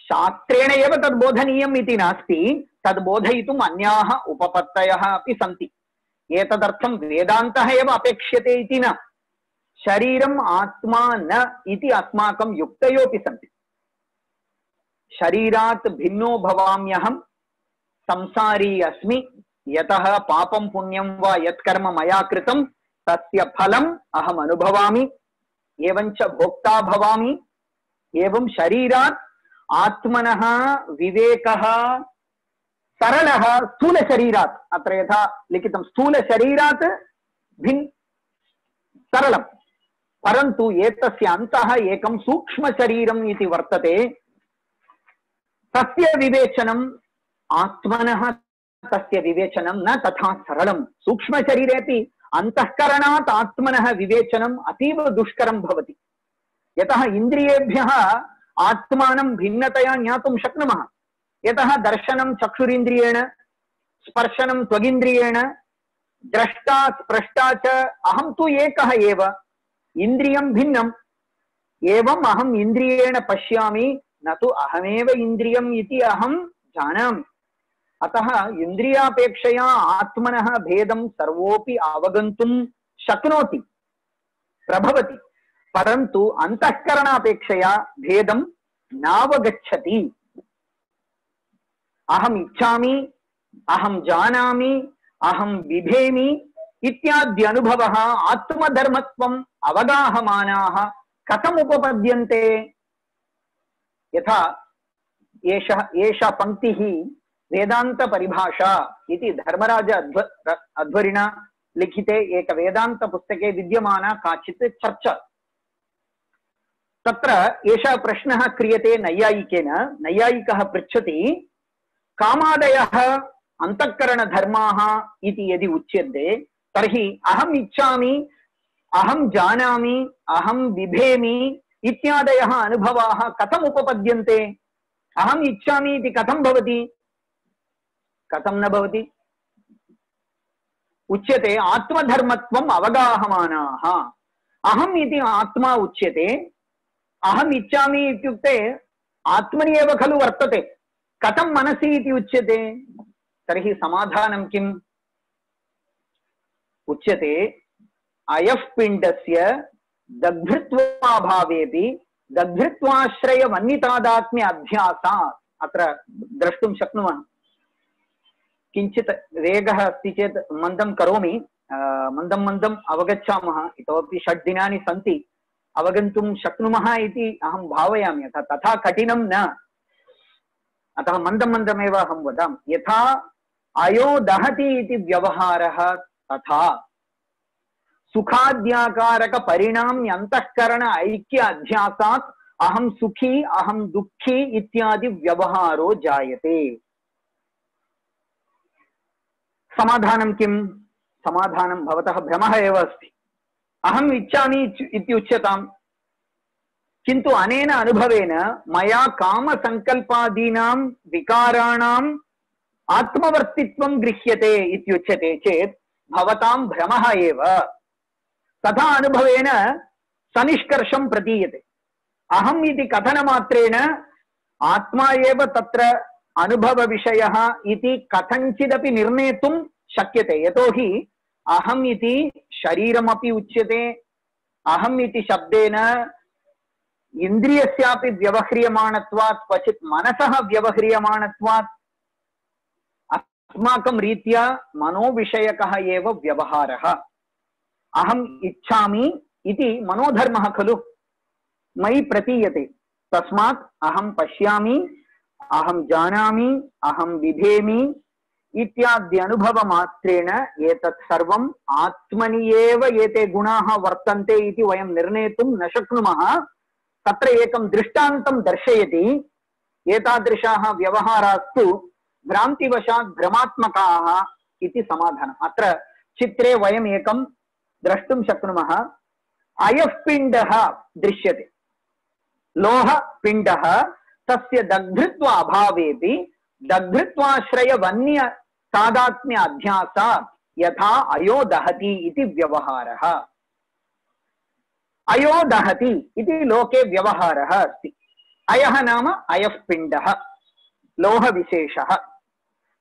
शास्त्रेण एव तद् बोधनीयम् इति नास्ति, तद् बोधयितुम् अन्याः उपपत्तयः अपि सन्ति। एतदर्थं वेदान्तः एव अपेक्ष्यते इति न। शरीरम् आत्मा न इति अस्माकं युक्तयोऽपि सन्ति। शरीरात् भिन्नो भवाम्यहं, संसारी अस्मि, यतः पापं पुण्यं वा यत्कर्म मया कृतं तस्य फलम् अहम् अनुभवामि, एवञ्च भोक्ता भवामि। एवं शरीरात् आत्मनः विवेकः सरलः स्थूलशरीरात्, अत्र यथा लिखितं स्थूलशरीरात् भिन् सरलं, परन्तु एतस्य अन्तः एकं सूक्ष्मशरीरम् इति वर्तते। तस्य विवेचनम् आत्मनः तस्य विवेचनं न तथा सरलं। सूक्ष्मशरीरेपि अंतःकरणात् आत्मनः विवेचनम् अतीव दुष्करं भवति। यतः इन्द्रियेभ्यः आत्मानं भिन्नतया ज्ञातुं शक्नुमः। यतः दर्शनं चक्षुरिन्द्रियेण, स्पर्शनं त्वगिन्द्रियेण, द्रष्टा स्पृष्टा च अहं तु एकः एव, इन्द्रियं भिन्नम्। एवम् अहम् इन्द्रियेण पश्यामि, न तु अहमेव इन्द्रियम् इति अहं जानामि। अतः इन्द्रियापेक्षया आत्मनः भेदं सर्वोऽपि अवगन्तुं शक्नोति, प्रभवति, परन्तु अंतःकरणापेक्षया भेदं नावगच्छति। अहम् इच्छामि, अहं जानामि, अहं बिभेमि इत्यादि अनुभवः आत्मधर्मत्वम् अवगाहमानाः कथम् उपपद्यन्ते? यथा एषः एषा पंक्तिः वेदांत परिभाषा इति धर्मराज अध्व अध्वरिणा लिखिते एक वेदांत पुस्तके विद्यमाना काचित् चर्चा। तत्र एषः प्रश्नः क्रियते नैयायिकेन। नैयायिकः पृच्छति, कामादयः अंतःकरण धर्माः इति यदि उच्यन्ते तर्हि अहम् इच्छामि, अहं जानामि, अहं बिभेमि इत्यादयः अनुभवाः कथम् उपपद्यन्ते? अहम् इच्छामि इति कथं भवति? कथं न भवति? उच्यते आत्मधर्मत्वम् अवगाहमानाः। अहम् इति आत्मा उच्यते, अहम् इच्छामि इत्युक्ते आत्मनि एव खलु वर्तते, कथं मनसि इति उच्यते? तर्हि समाधानं किम्? उच्यते अयः पिण्डस्य दग्धृत्वाभावेपि दग्धृत्वाश्रयवन्नितादात्म्य अध्यासात्। अत्र द्रष्टुं शक्नुमः। किञ्चित् वेगः अस्ति चेत् मन्दं करोमि, मन्दं मन्दम् अवगच्छामः। इतोपि षड् दिनानि सन्ति, अवगन्तुं शक्नुमः इति अहं भावयामि। अतः तथा कठिनं न, अतः मन्दं मन्दमेव अहं वदामि। यथा अयो दहति इति व्यवहारः, तथा सुखाद्याकारक परिणाम्य अंतःकरण ऐक्य अध्यासात् अहं सुखी अहं दुःखी इत्यादि व्यवहारो जायते। समाधानं किम्? समाधानं भवतः भ्रमः एव अस्ति। अहम् इच्छामि इत्युच्यताम्, किन्तु अनेन अनुभवेन मया कामसङ्कल्पादीनां विकाराणाम् आत्मवर्तित्वं गृह्यते इत्युच्यते चेत् भवतां भ्रमः एव। तथा अनुभवेन सनिष्कर्षं प्रतीयते। अहम् इति कथनमात्रेण आत्मा एव तत्र अनुभवविषयः इति कथञ्चिदपि निर्णेतुं शक्यते। यतोहि अहम् इति शरीरमपि उच्यते, अहम् इति शब्देन इन्द्रियस्यापि व्यवह्रियमाणत्वात्, क्वचित् मनसः व्यवह्रियमाणत्वात् अस्माकं रीत्या मनोविषयकः एव व्यवहारः। अहम् इच्छामि इति मनोधर्मः खलु, मयि प्रतीयते। तस्मात् अहं पश्यामि, अहं जानामि, अहं बिभेमि इत्यादि अनुभवमात्रेण एतत् सर्वम् आत्मनि एव एते गुणाः वर्तन्ते इति वयं निर्णेतुं न शक्नुमः। तत्र एकं दृष्टान्तं दर्शयति। एतादृशाः व्यवहारास्तु भ्रान्तिवशात् भ्रमात्मकाः इति समाधानम्। अत्र चित्रे वयम् एकं द्रष्टुं शक्नुमः। अयः पिण्डः दृश्यते, लोहपिण्डः, तस्य दग्धृत्व अभावेपि दग्धृत्वाश्रयवन्य तादात्म्य अध्यासात् यथा अयो दहति इति व्यवहारः। अयो दहति इति लोके व्यवहारः अस्ति। अयः नाम अयः पिण्डः, लोहविशेषः।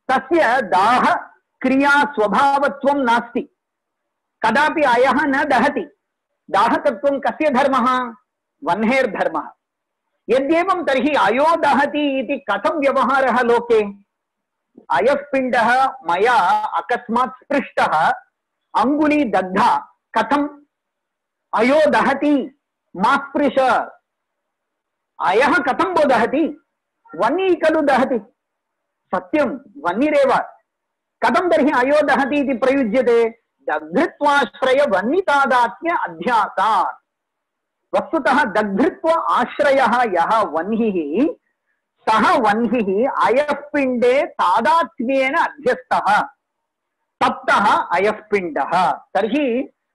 तस्य दाह क्रिया स्वभावत्वं नास्ति। कदापि अयः न दहति। दाहकत्वं कस्य धर्मः? वह्नेर्धर्मः। यद्येवं तर्हि अयो दहति इति कथं व्यवहारः लोके? अयः पिण्डः मया अकस्मात् स्पृष्टः, अङ्गुली दग्धा, कथम् अयो दहति? मा स्पृश। अयः कथं वो दहति? वह्निः खलु दहति। सत्यं, वह्निरेव। कथं तर्हि अयो दहति इति प्रयुज्यते? दग्धृत्वाश्रय वह्नितादात्म्य अध्यासात्। वस्तुतः दग्धृत्व आश्रयः यः वह्निः, सः वह्निः अयः पिण्डे तादात्म्येन अध्यस्तः। सप्तः अयस्पिण्डः। तर्हि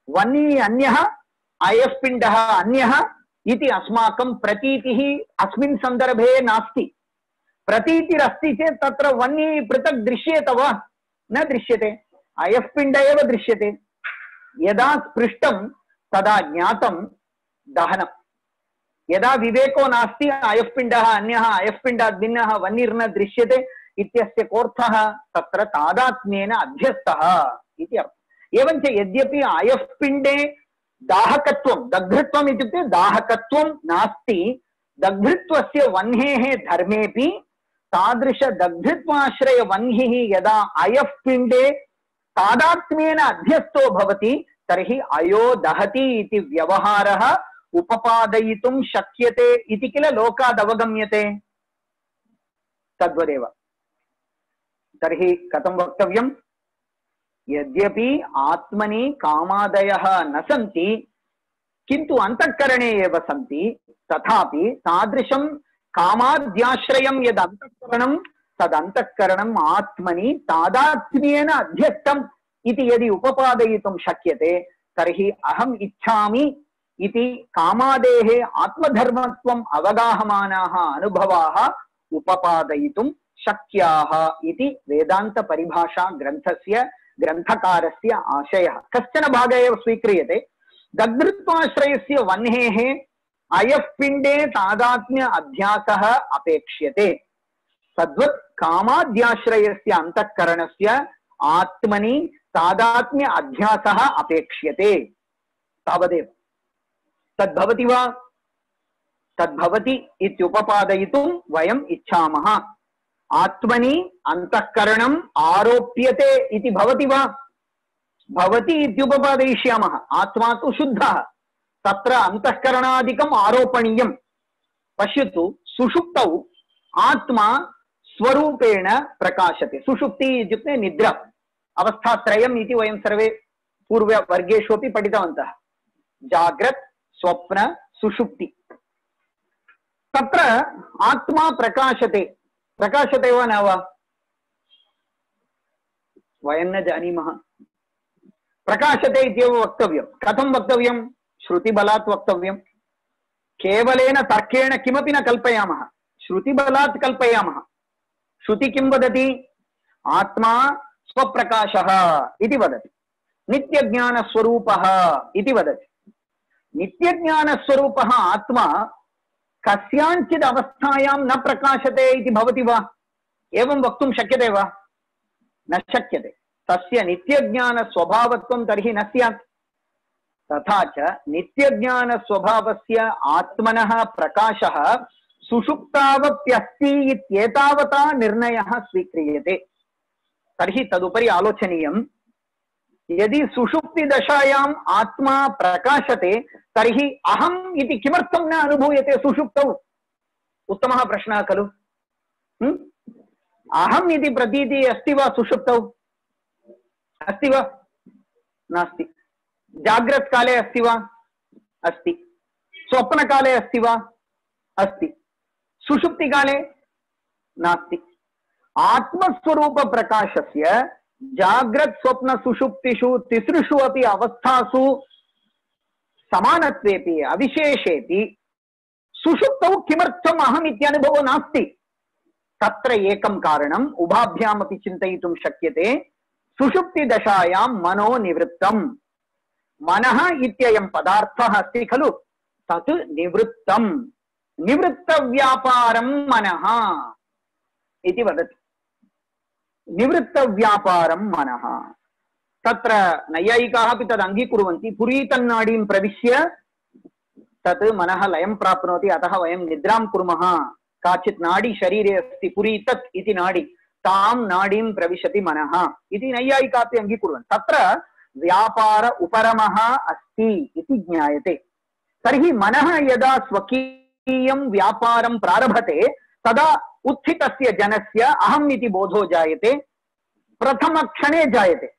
वह्नि अन्यः अयस्पिण्डः अन्यः इति अस्माकं प्रतीतिः अस्मिन् सन्दर्भे नास्ति। प्रतीतिरस्ति चेत् तत्र वह्नि पृथक् दृश्येत वा? न दृश्यते, अयस्पिण्ड एव दृश्यते। यदा स्पृष्टं तदा ज्ञातं दहनं। यदा विवेको नास्ति अयस्पिण्डः अन्यः अयस्पिण्डात् भिन्नः वह्निर्न दृश्यते इत्यस्य कोऽर्थः? तत्र तादात्म्येन अध्यस्तः इति अर्थः। एवञ्च यद्यपि अयस्पिण्डे दाहकत्वं दग्धत्वम् इत्युक्ते दाहकत्वं नास्ति, दग्धत्वस्य वह्नेः धर्मेऽपि तादृश दग्धत्वाश्रय वह्निः यदा अयस्पिण्डे तादात्म्येन अध्यस्तो भवति तर्हि अयो दहति इति व्यवहारः उपपादयितुं शक्यते इति किल लोकात् अवगम्यते। तद्वदेव तर्हि कथं वक्तव्यं? यद्यपि आत्मनि कामादयः न सन्ति किन्तु अंतःकरणे एव सन्ति, तथापि तादृशं कामाद्याश्रयं यद् अंतःकरणं तद् अंतःकरणम् आत्मनि तादात्म्येन अध्यस्तम् इति यदि उपपादयितुं शक्यते तर्हि अहम् इच्छामि इति कामादेः आत्मधर्मत्वम् अवगाहमानाः अनुभवाः उपपादयितुं शक्याः इति वेदान्त परिभाषा ग्रन्थस्य ग्रन्थकारस्य आशयः। कश्चन भागः एव स्वीक्रियते। दग्धत्वाश्रयस्य वह्नेः अयस्पिण्डे तादात्म्य अध्यासः अपेक्ष्यते, तद्वत् कामाद्याश्रयस्य अंतःकरणस्य आत्मनि तादात्म्य अध्यासः अपेक्ष्यते। तावदेव। तद्भवति वा? तद्भवति इत्युपपादयितुं वयम् इच्छामः। आत्मनि अंतःकरणम् आरोप्यते इति भवति वा? भवति इत्युपपादयिष्यामः। आत्मा तु शुद्धः, तत्र अंतःकरणादिकम् आरोपणीयम्। पश्यतु, सुषुप्तौ आत्मा स्वरूपेण प्रकाशते। सुषुप्ति इत्युक्ते निद्रा, अवस्थात्रयम् इति वयं सर्वे पूर्ववर्गेषु अपि पठितवन्तः। जाग्रत्, स्वप्न, सुषुप्ति। तत्र आत्मा प्रकाशते। प्रकाशते वा न वा? वयं न जानीमः। प्रकाशते इत्येव वक्तव्यं। कथं वक्तव्यं? श्रुतिबलात् वक्तव्यं। केवलेन तर्केण किमपि न कल्पयामः, श्रुतिबलात् कल्पयामः। श्रुति किं वदति? आत्मा स्वप्रकाशः इति वदति, नित्यज्ञानस्वरूपः इति वदति। नित्यज्ञानस्वरूपः आत्मा कस्याञ्चित् अवस्थायां न प्रकाशते इति भवति वा? एवं वक्तुं शक्यते वा? न शक्यते। तस्य नित्यज्ञानस्वभावत्वं तर्हि न स्यात्। तथा च नित्यज्ञानस्वभावस्य आत्मनः प्रकाशः सुषुप्तावप्यस्ति इत्येतावता निर्णयः स्वीक्रियते। तर्हि तदुपरि आलोचनीयं। यदि सुषुप्ति दशायाम् आत्मा प्रकाशते तर्हि अहम् इति किमर्थं न अनुभूयते सुषुप्तौ? उत्तमः प्रश्नः खलु। अहम् इति प्रतीति अस्ति वा सुषुप्तौ? अस्ति वा? नास्ति। जाग्रत् काले अस्ति वा? अस्ति। स्वप्नकाले अस्ति वा? अस्ति। सुषुप्ति काले नास्ति। आत्मस्वरूप प्रकाशस्य जाग्रत् स्वप्न सुषुप्तिषु तिसृषु अपि अवस्थासु समानत्वेपि अविशेषेपि सुषुप्तौ किमर्थम् अहम् इत्यनुभवो नास्ति? तत्र एकं कारणम् उभाभ्यामपि चिन्तयितुं शक्यते। सुषुप्ति दशायां मनो निवृत्तम्। मनः इत्ययं पदार्थः अस्ति खलु, तत् निवृत्तम्। निवृत्तव्यापारं मनः इति वदति। निवृत्तव्यापारं मनः। तत्र नैयायिकाः अपि तद् अङ्गीकुर्वन्ति। पुरीतन्नाडीं प्रविश्य तत् मनः लयं प्राप्नोति, अतः वयं निद्रां कुर्मः। काचित् नाडी शरीरे अस्ति, पुरीतत् इति नाडी, तां नाडीं प्रविशति मनः इति नैयायिका अपि अङ्गीकुर्वन्ति। तत्र व्यापार उपरमः अस्ति इति ज्ञायते। तर्हि मनः यदा स्वकीयं व्यापारं प्रारभते तदा उत्थितस्य जनस्य अहम् इति बोधो जायते। प्रथमक्षणे जायते।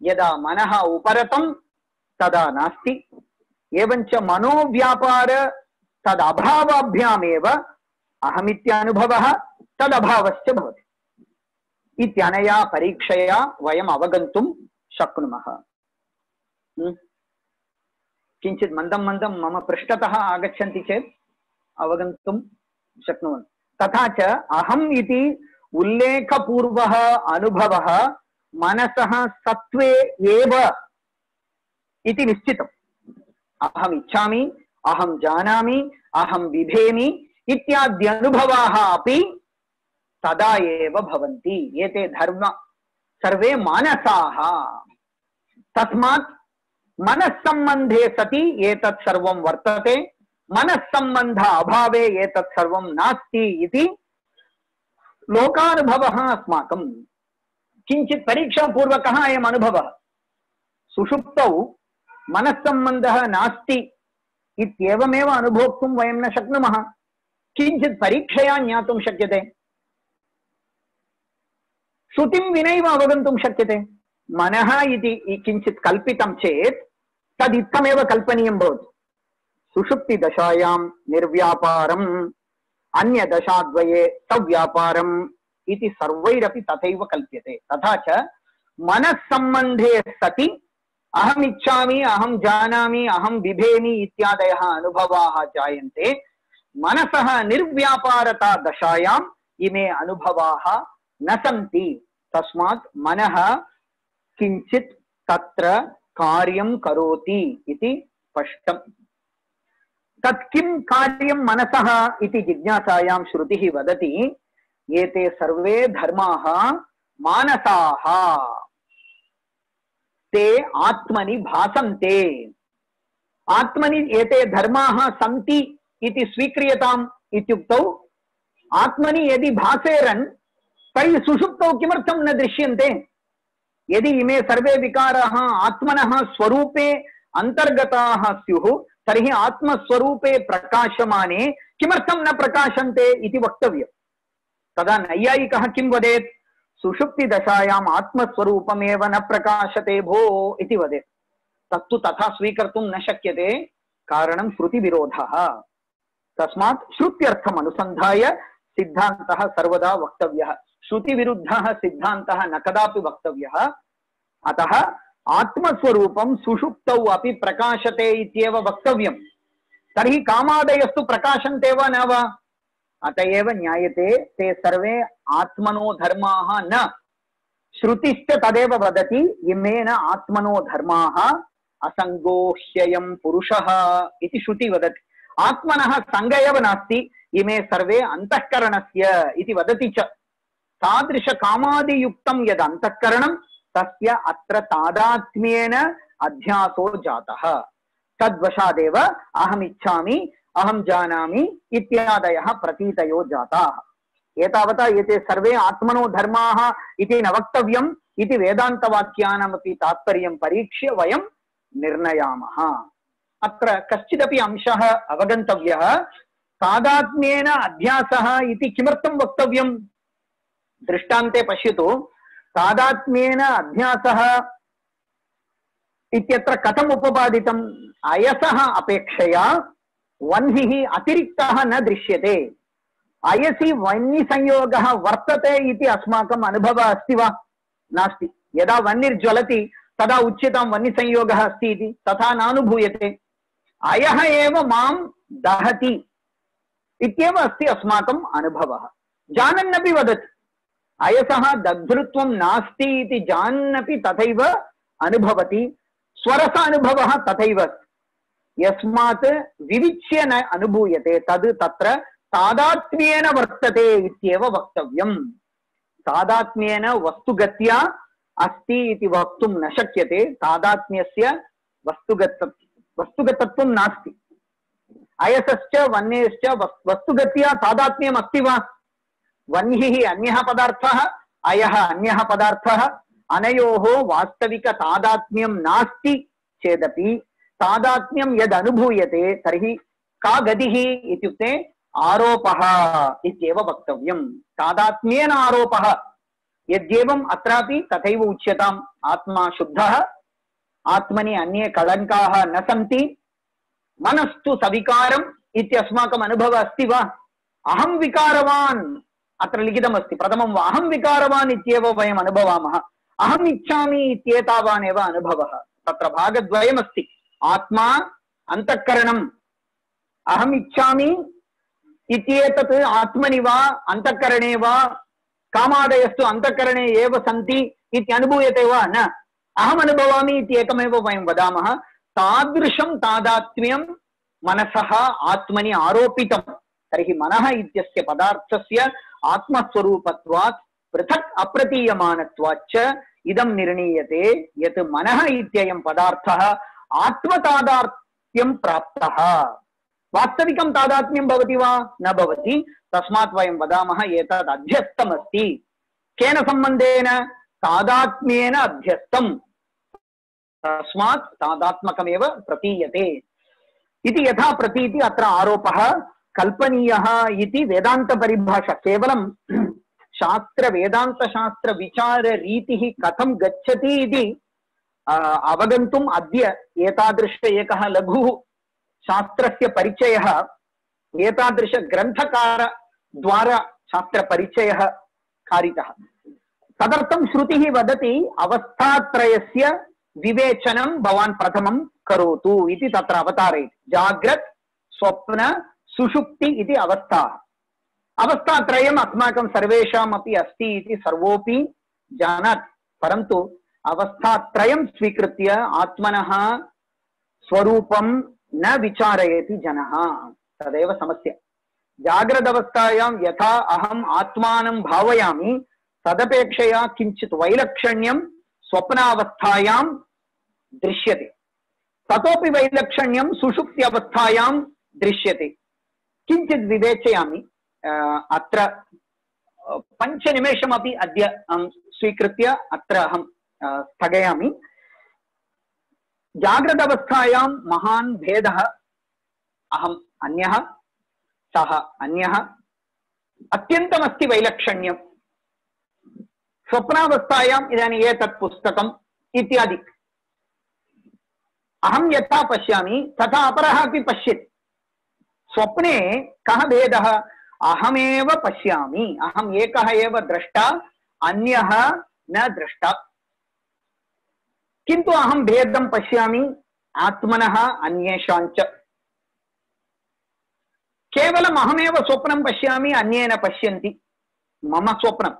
यदा मनः उपरतं तदा नास्ति। एवञ्च मनोव्यापार तदभावाभ्यामेव अहमित्यानुभवः तदभावश्च भवति। इत्यनया परीक्षया वयम् अवगन्तुं शक्नुमः। किञ्चित् मन्दं मन्दं मम पृष्ठतः आगच्छन्ति चेत् अवगन्तुं शक्नुवन्ति। तथा च अहम् इति उल्लेखपूर्वः अनुभवः मनसः सत्त्वे एव इति निश्चितम्। अहम् इच्छामि, अहं जानामि, अहं बिभेमि इत्याद्यनुभवाः अपि तदा एव भवन्ति। एते धर्म सर्वे मानसाः। तस्मात् मनस्सम्बन्धे सति एतत् सर्वं वर्तते, मनस्सम्बन्ध अभावे एतत् सर्वं नास्ति इति लोकानुभवः अस्माकं। किञ्चित् परीक्षापूर्वकः अयम् अनुभवः। सुषुप्तौ मनस्सम्बन्धः नास्ति इत्येवमेव अनुभोक्तुं वयं न शक्नुमः। किञ्चित् परीक्षया ज्ञातुं शक्यते। श्रुतिं विनैव अवगन्तुं शक्यते। मनः इति किञ्चित् कल्पितं चेत् तदित्थमेव कल्पनीयं भवति। सुषुप्तिदशायां निर्व्यापारम्, अन्यदशाद्वये सव्यापारम् इति सर्वैरपि तथैव कल्प्यते। तथा च मनस्सम्बन्धे सति अहम् इच्छामि, अहं जानामि, अहं बिभेमि इत्यादयः अनुभवाः जायन्ते। मनसः निर्व्यापारता दशायाम् इमे अनुभवाः न सन्ति। तस्मात् मनः किञ्चित् तत्र कार्यं करोति इति स्पष्टम्। तत् किं कार्यं मनसः इति जिज्ञासायां श्रुतिः वदति, एते सर्वे धर्माः मानसाः, ते आत्मनि भासन्ते। आत्मनि एते धर्माः सन्ति इति स्वीक्रियताम् इत्युक्तौ आत्मनि यदि भासेरन् तर्हि सुषुप्तौ किमर्थं न दृश्यन्ते? यदि इमे सर्वे विकाराः आत्मनः स्वरूपे अंतर्गताः स्युः तर्हि आत्मस्वरूपे प्रकाशमाने किमर्थं न प्रकाशन्ते इति वक्तव्यम्। तदा नैयायिकः किं वदेत्? सुषुप्तिदशायाम् आत्मस्वरूपमेव न प्रकाशते भो इति वदेत्। तत्तु तथा स्वीकर्तुं न शक्यते, कारणं श्रुतिविरोधः। तस्मात् श्रुत्यर्थम् अनुसन्धाय सिद्धान्तः सर्वदा वक्तव्यः। श्रुतिविरुद्धः सिद्धान्तः न कदापि वक्तव्यः। अतः आत्मस्वरूपं सुषुप्तौ अपि प्रकाशते इत्येव वक्तव्यम्। तर्हि कामादयस्तु प्रकाशन्ते वा न वा? अत एव ज्ञायते ते सर्वे आत्मनो धर्माः न। श्रुतिश्च तदेव वदति, इमेन आत्मनो धर्माः असङ्गो ह्ययं पुरुषः इति श्रुति वदति। आत्मनः सङ्ग एव नास्ति, इमे सर्वे अन्तःकरणस्य इति वदति च। तादृश कामादियुक्तं यद् अन्तःकरणं तस्य अत्र तादात्म्येन अध्यासो जातः। तद्वशादेव अहम् इच्छामि, अहं जानामि इत्यादयः प्रतीतयो जाताः। एतावता एते सर्वे आत्मनो धर्माः इति न वक्तव्यम् इति वेदान्तवाक्यानामपि तात्पर्यं परीक्ष्य वयं निर्णयामः। अत्र कश्चिदपि अंशः अवगन्तव्यः। तादात्म्येन अध्यासः इति किमर्थं वक्तव्यम्? दृष्टान्ते पश्यतु। तादात्म्येन अध्यासः इत्यत्र कथम् उपपादितम्? अयसः अपेक्षया वह्निः अतिरिक्तः न दृश्यते। अयसि वह्निसंयोगः वर्तते इति अस्माकम् अनुभवः अस्ति वा? नास्ति। यदा वह्निर्ज्वलति तदा उच्यतां वह्निसंयोगः अस्ति इति, तथा नानुभूयते। अयः एव मां दहति इत्येव अस्ति अस्माकम् अनुभवः। जानन्नपि वदति अयसः दग्धृत्वं नास्ति इति जानन्नपि तथैव अनुभवति। स्वरस अनुभवः तथैव यस्मात् विविच्य न अनुभूयते तद् तत्र तादात्म्येन वर्तते इत्येव वक्तव्यम्। तादात्म्येन वस्तुगत्या अस्ति इति वक्तुं न शक्यते। तादात्म्यस्य वस्तुगत वस्तुगतत्वं नास्ति। अयसश्च वह्नेश्च वस्तुगत्या तादात्म्यम् अस्ति वा? वह्निः अन्यः पदार्थः, अयः अन्यः पदार्थः। अनयोः वास्तविक तादात्म्यं नास्ति चेदपि तादात्म्यं यद् अनुभूयते तर्हि का गतिः इत्युक्ते आरोपः इत्येव वक्तव्यम्। तादात्म्येन आरोपः। यद्येवम् अत्रापि तथैव उच्यताम्। आत्मा शुद्धः, आत्मनि अन्ये कलङ्काः न सन्ति, मनस्तु सविकारम् इत्यस्माकम् अनुभवः अस्ति वा? अहं विकारवान् अत्र लिखितमस्ति। प्रथमं वा अहं विकारवान् इत्येव वयम् अनुभवामः, अहम् इच्छामि इत्येतावानेव अनुभवः। तत्र भागद्वयमस्ति, आत्मा अन्तःकरणम्। अहम् इच्छामि इत्येतत् आत्मनि वा अन्तःकरणे वा, कामादयस्तु अन्तःकरणे एव सन्ति इति अनुभूयते वा न, अहम् अनुभवामि इति एकमेव वयं वदामः। तादृशं तादात्म्यं मनसः आत्मनि आरोपितं। तर्हि मनः इत्यस्य पदार्थस्य आत्मस्वरूपत्वात् पृथक् अप्रतीयमानत्वाच्च इदं निर्णीयते यत् मनः इत्ययं पदार्थः आत्मतादात्म्यं प्राप्तः। वास्तविकं तादात्म्यं भवति वा न भवति, तस्मात् वयं वदामः एतद् अध्यस्तमस्ति। केन सम्बन्धेन? तादात्म्येन अध्यस्तम्, तस्मात् तादात्मकमेव प्रतीयते इति यथा प्रतीति अत्र आरोपः कल्पनीयः इति वेदान्तपरिभाषा। केवलं शास्त्र वेदान्तशास्त्र विचाररीतिः कथं गच्छति इति अवगन्तुम् अद्य एतादृश एकः लघुः शास्त्रस्य परिचयः, एतादृश ग्रन्थकार द्वारा शास्त्रपरिचयः कारितः। तदर्थं श्रुतिः वदति अवस्थात्रयस्य विवेचनं भवान् प्रथमं करोतु इति तत्र अवतारयति। जाग्रत् स्वप्न सुषुप्ति इति अवस्था। अवस्थात्रयम् अस्माकं सर्वेषाम् अपि अस्ति इति सर्वोऽपि जानाति, परन्तु अवस्थात्रयं स्वीकृत्य आत्मनः स्वरूपं न विचारयति जनः, तदेव समस्या। जाग्रदवस्थायां यथा अहम् आत्मानं भावयामि तदपेक्षया किञ्चित् वैलक्षण्यं स्वप्नावस्थायां दृश्यते, ततोपि वैलक्षण्यं सुषुप्त्यवस्थायां दृश्यते। किञ्चित् विवेचयामि, अत्र पञ्चनिमेषमपि अद्य अहं स्वीकृत्य अत्र अहं स्थगयामि। जाग्रदवस्थायां महान् भेदः, अहम् अन्यः सः अन्यः, अत्यन्तमस्ति वैलक्षण्यं। स्वप्नावस्थायाम् इदानीम् एतत् पुस्तकम् इत्यादि अहं यथा पश्यामि तथा अपरः अपि पश्यति। स्वप्ने कः भेदः? अहमेव पश्यामि, अहम् एकः एव द्रष्टा, अन्यः न द्रष्टा, किन्तु अहं भेदं पश्यामि आत्मनः अन्येषाञ्च। केवलम् अहमेव स्वप्नं पश्यामि, अन्ये न पश्यन्ति। मम स्वप्नं,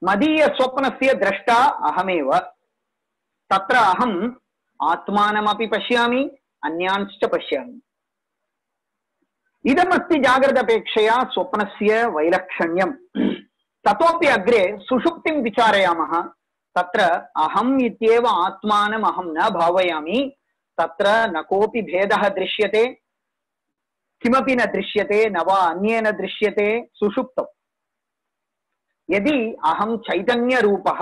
मदीय स्वप्नस्य द्रष्टा अहमेव। तत्र अहम् आत्मानमपि पश्यामि, अन्यांश्च पश्यामि। इदमस्ति जाग्रदपेक्षया स्वप्नस्य वैलक्षण्यं। ततोपि अग्रे सुषुप्तिं विचारयामः। तत्र अहम् इत्येव आत्मानम् अहं न भावयामि, तत्र न कोऽपि भेदः दृश्यते, किमपि न दृश्यते, न वा अन्येन दृश्यते। सुषुप्तौ यदि अहं चैतन्यरूपः,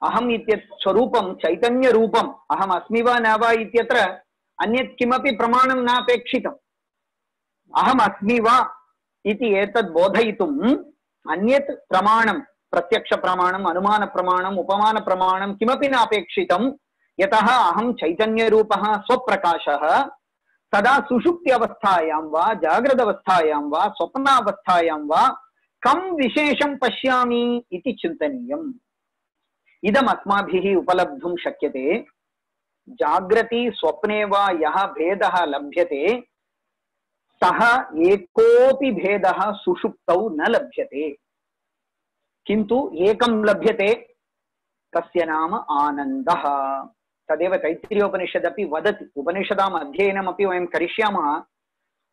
अहम् इत्यत् स्वरूपं चैतन्यरूपम्, अहम् अस्मि वा न वा इत्यत्र अन्यत् किमपि प्रमाणं नापेक्षितम्। अहम् अस्मि वा इति एतद् बोधयितुम् अन्यत् प्रमाणं, प्रत्यक्षप्रमाणम्, अनुमानप्रमाणम्, उपमानप्रमाणं किमपि नापेक्षितं। यतः अहं चैतन्यरूपः स्वप्रकाशः। तदा सुषुप्त्यवस्थायां वा जाग्रदवस्थायां वा स्वप्नावस्थायां वा कं विशेषं पश्यामि इति चिन्तनीयम्। इदम् अस्माभिः उपलब्धुं शक्यते। जाग्रति स्वप्ने वा यः भेदः लभ्यते सः एकोऽपि भेदः सुषुप्तौ न लभ्यते, किन्तु एकं लभ्यते, तस्य नाम आनन्दः। तदेव तैत्तिरीयोपनिषदपि वदति। उपनिषदाम् अध्ययनमपि वयं करिष्यामः,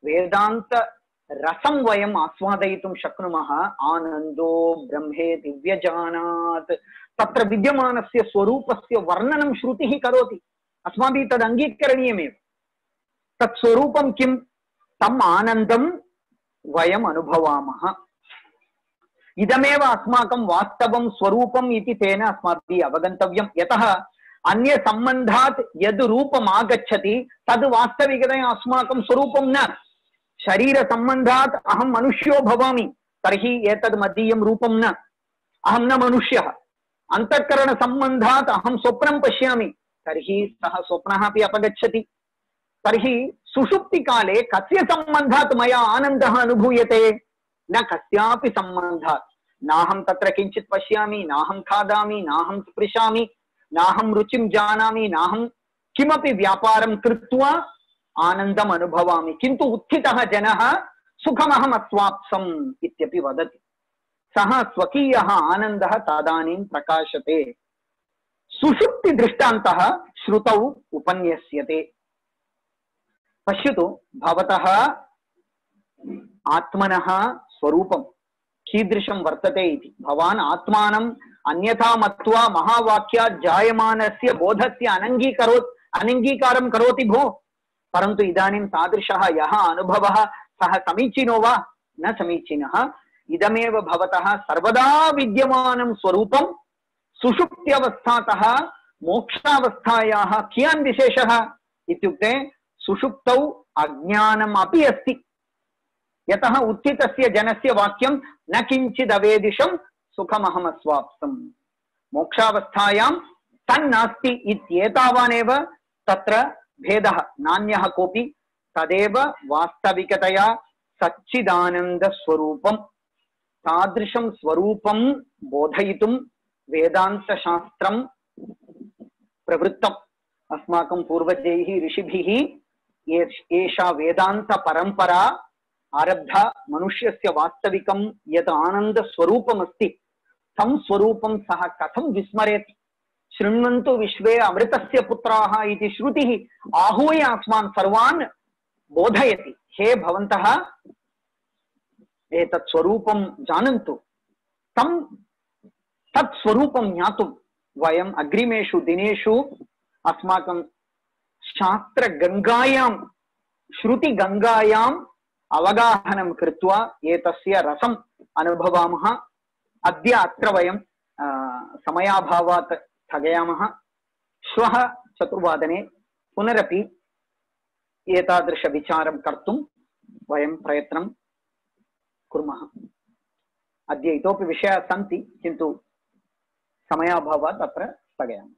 वेदान्त रसं वयम् आस्वादयितुं शक्नुमः। आनन्दो ब्रह्मेति व्यजानात्, तत्र विद्यमानस्य स्वरूपस्य वर्णनं श्रुतिः करोति। अस्माभिः तद् अङ्गीकरणीयमेव। तत् स्वरूपं किं? तम् आनन्दं वयम् अनुभवामः। इदमेव अस्माकं वास्तवं स्वरूपम् इति तेन अस्माभिः अवगन्तव्यं। यतः अन्य सम्बन्धात् यद् रूपम् आगच्छति तद् वास्तविकतया अस्माकं स्वरूपं न। शरीर सम्बन्धात् अहं मनुष्यो भवामि, तर्हि एतद् मदीयं रूपं न, अहं न मनुष्यः। अंतःकरण संबंधात् अहं स्वप्नं पश्यामि, तर्हि सः स्वप्नः अपि अपगच्छति। तर्हि सुषुप्ति काले कस्य संबंधात् मया आनन्दः अनुभूयते? न कस्यापि सम्बन्धात् नाहं तत्र किञ्चित् पश्यामि, नाहं खादामि, नाहं स्पृशामि, नाहं रुचिं जानामि, नाहं किमपि व्यापारं कृत्वा आनन्दम् अनुभवामि, किन्तु उत्थितः जनः सुखमहम् अस्वाप्सम् इत्यपि वदति। सः स्वकीयः आनन्दः तदानीं प्रकाशते। सुषुप्ति दृष्टान्तः श्रुतौ उपन्यस्यते। पश्यतु, भवतः आत्मनः स्वरूपं कीदृशं वर्तते इति। भवान् आत्मानम् अन्यथा मत्वा महावाक्यात् जायमानस्य बोधस्य अनङ्गीकरोत् अनङ्गीकारं करोति भो, परन्तु इदानीं तादृशः यः अनुभवः सः समीचीनो वा न समीचीनः, इदमेव भवतः सर्वदा विद्यमानं स्वरूपं सुषुप्त्यवस्थातः मोक्षावस्थायाः कियान् विशेषः इत्युक्ते सुषुप्तौ अज्ञानम् अपि अस्ति। यतः उत्थितस्य जनस्य वाक्यं न किञ्चिदवेदिशं सुखमहम् अस्वाप्सम्, मोक्षावस्थायां तन्नास्ति इत्येतावानेव तत्र भेदः, नान्यः कोऽपि। तदेव वास्तविकतया सच्चिदानन्दस्वरूपं। तादृशं स्वरूपं बोधयितुं वेदान्तशास्त्रं प्रवृत्तम्। अस्माकं पूर्वजैः ऋषिभिः एषा वेदान्तपरम्परा आरब्धा। मनुष्यस्य वास्तविकं यत् आनन्दस्वरूपमस्ति तं स्वरूपं सः कथं विस्मरेत्। शृण्वन्तु विश्वे अमृतस्य पुत्राः इति श्रुतिः आहूय अस्मान् सर्वान् बोधयति। हे भवन्तः एतत् स्वरूपं जानन्तु। तं तत् स्वरूपं ज्ञातुं वयम् अग्रिमेषु दिनेषु अस्माकं शास्त्रगङ्गायां श्रुतिगङ्गायाम् अवगाहनं कृत्वा एतस्य रसम् अनुभवामः। अद्य अत्र वयं समयाभावात् स्थगयामः। श्वः चतुर्वादने पुनरपि एतादृशविचारं कर्तुं वयं प्रयत्नं कुर्मः। अद्य इतोपि विषयाः सन्ति, किन्तु समयाभावात् अत्र स्थगयामः।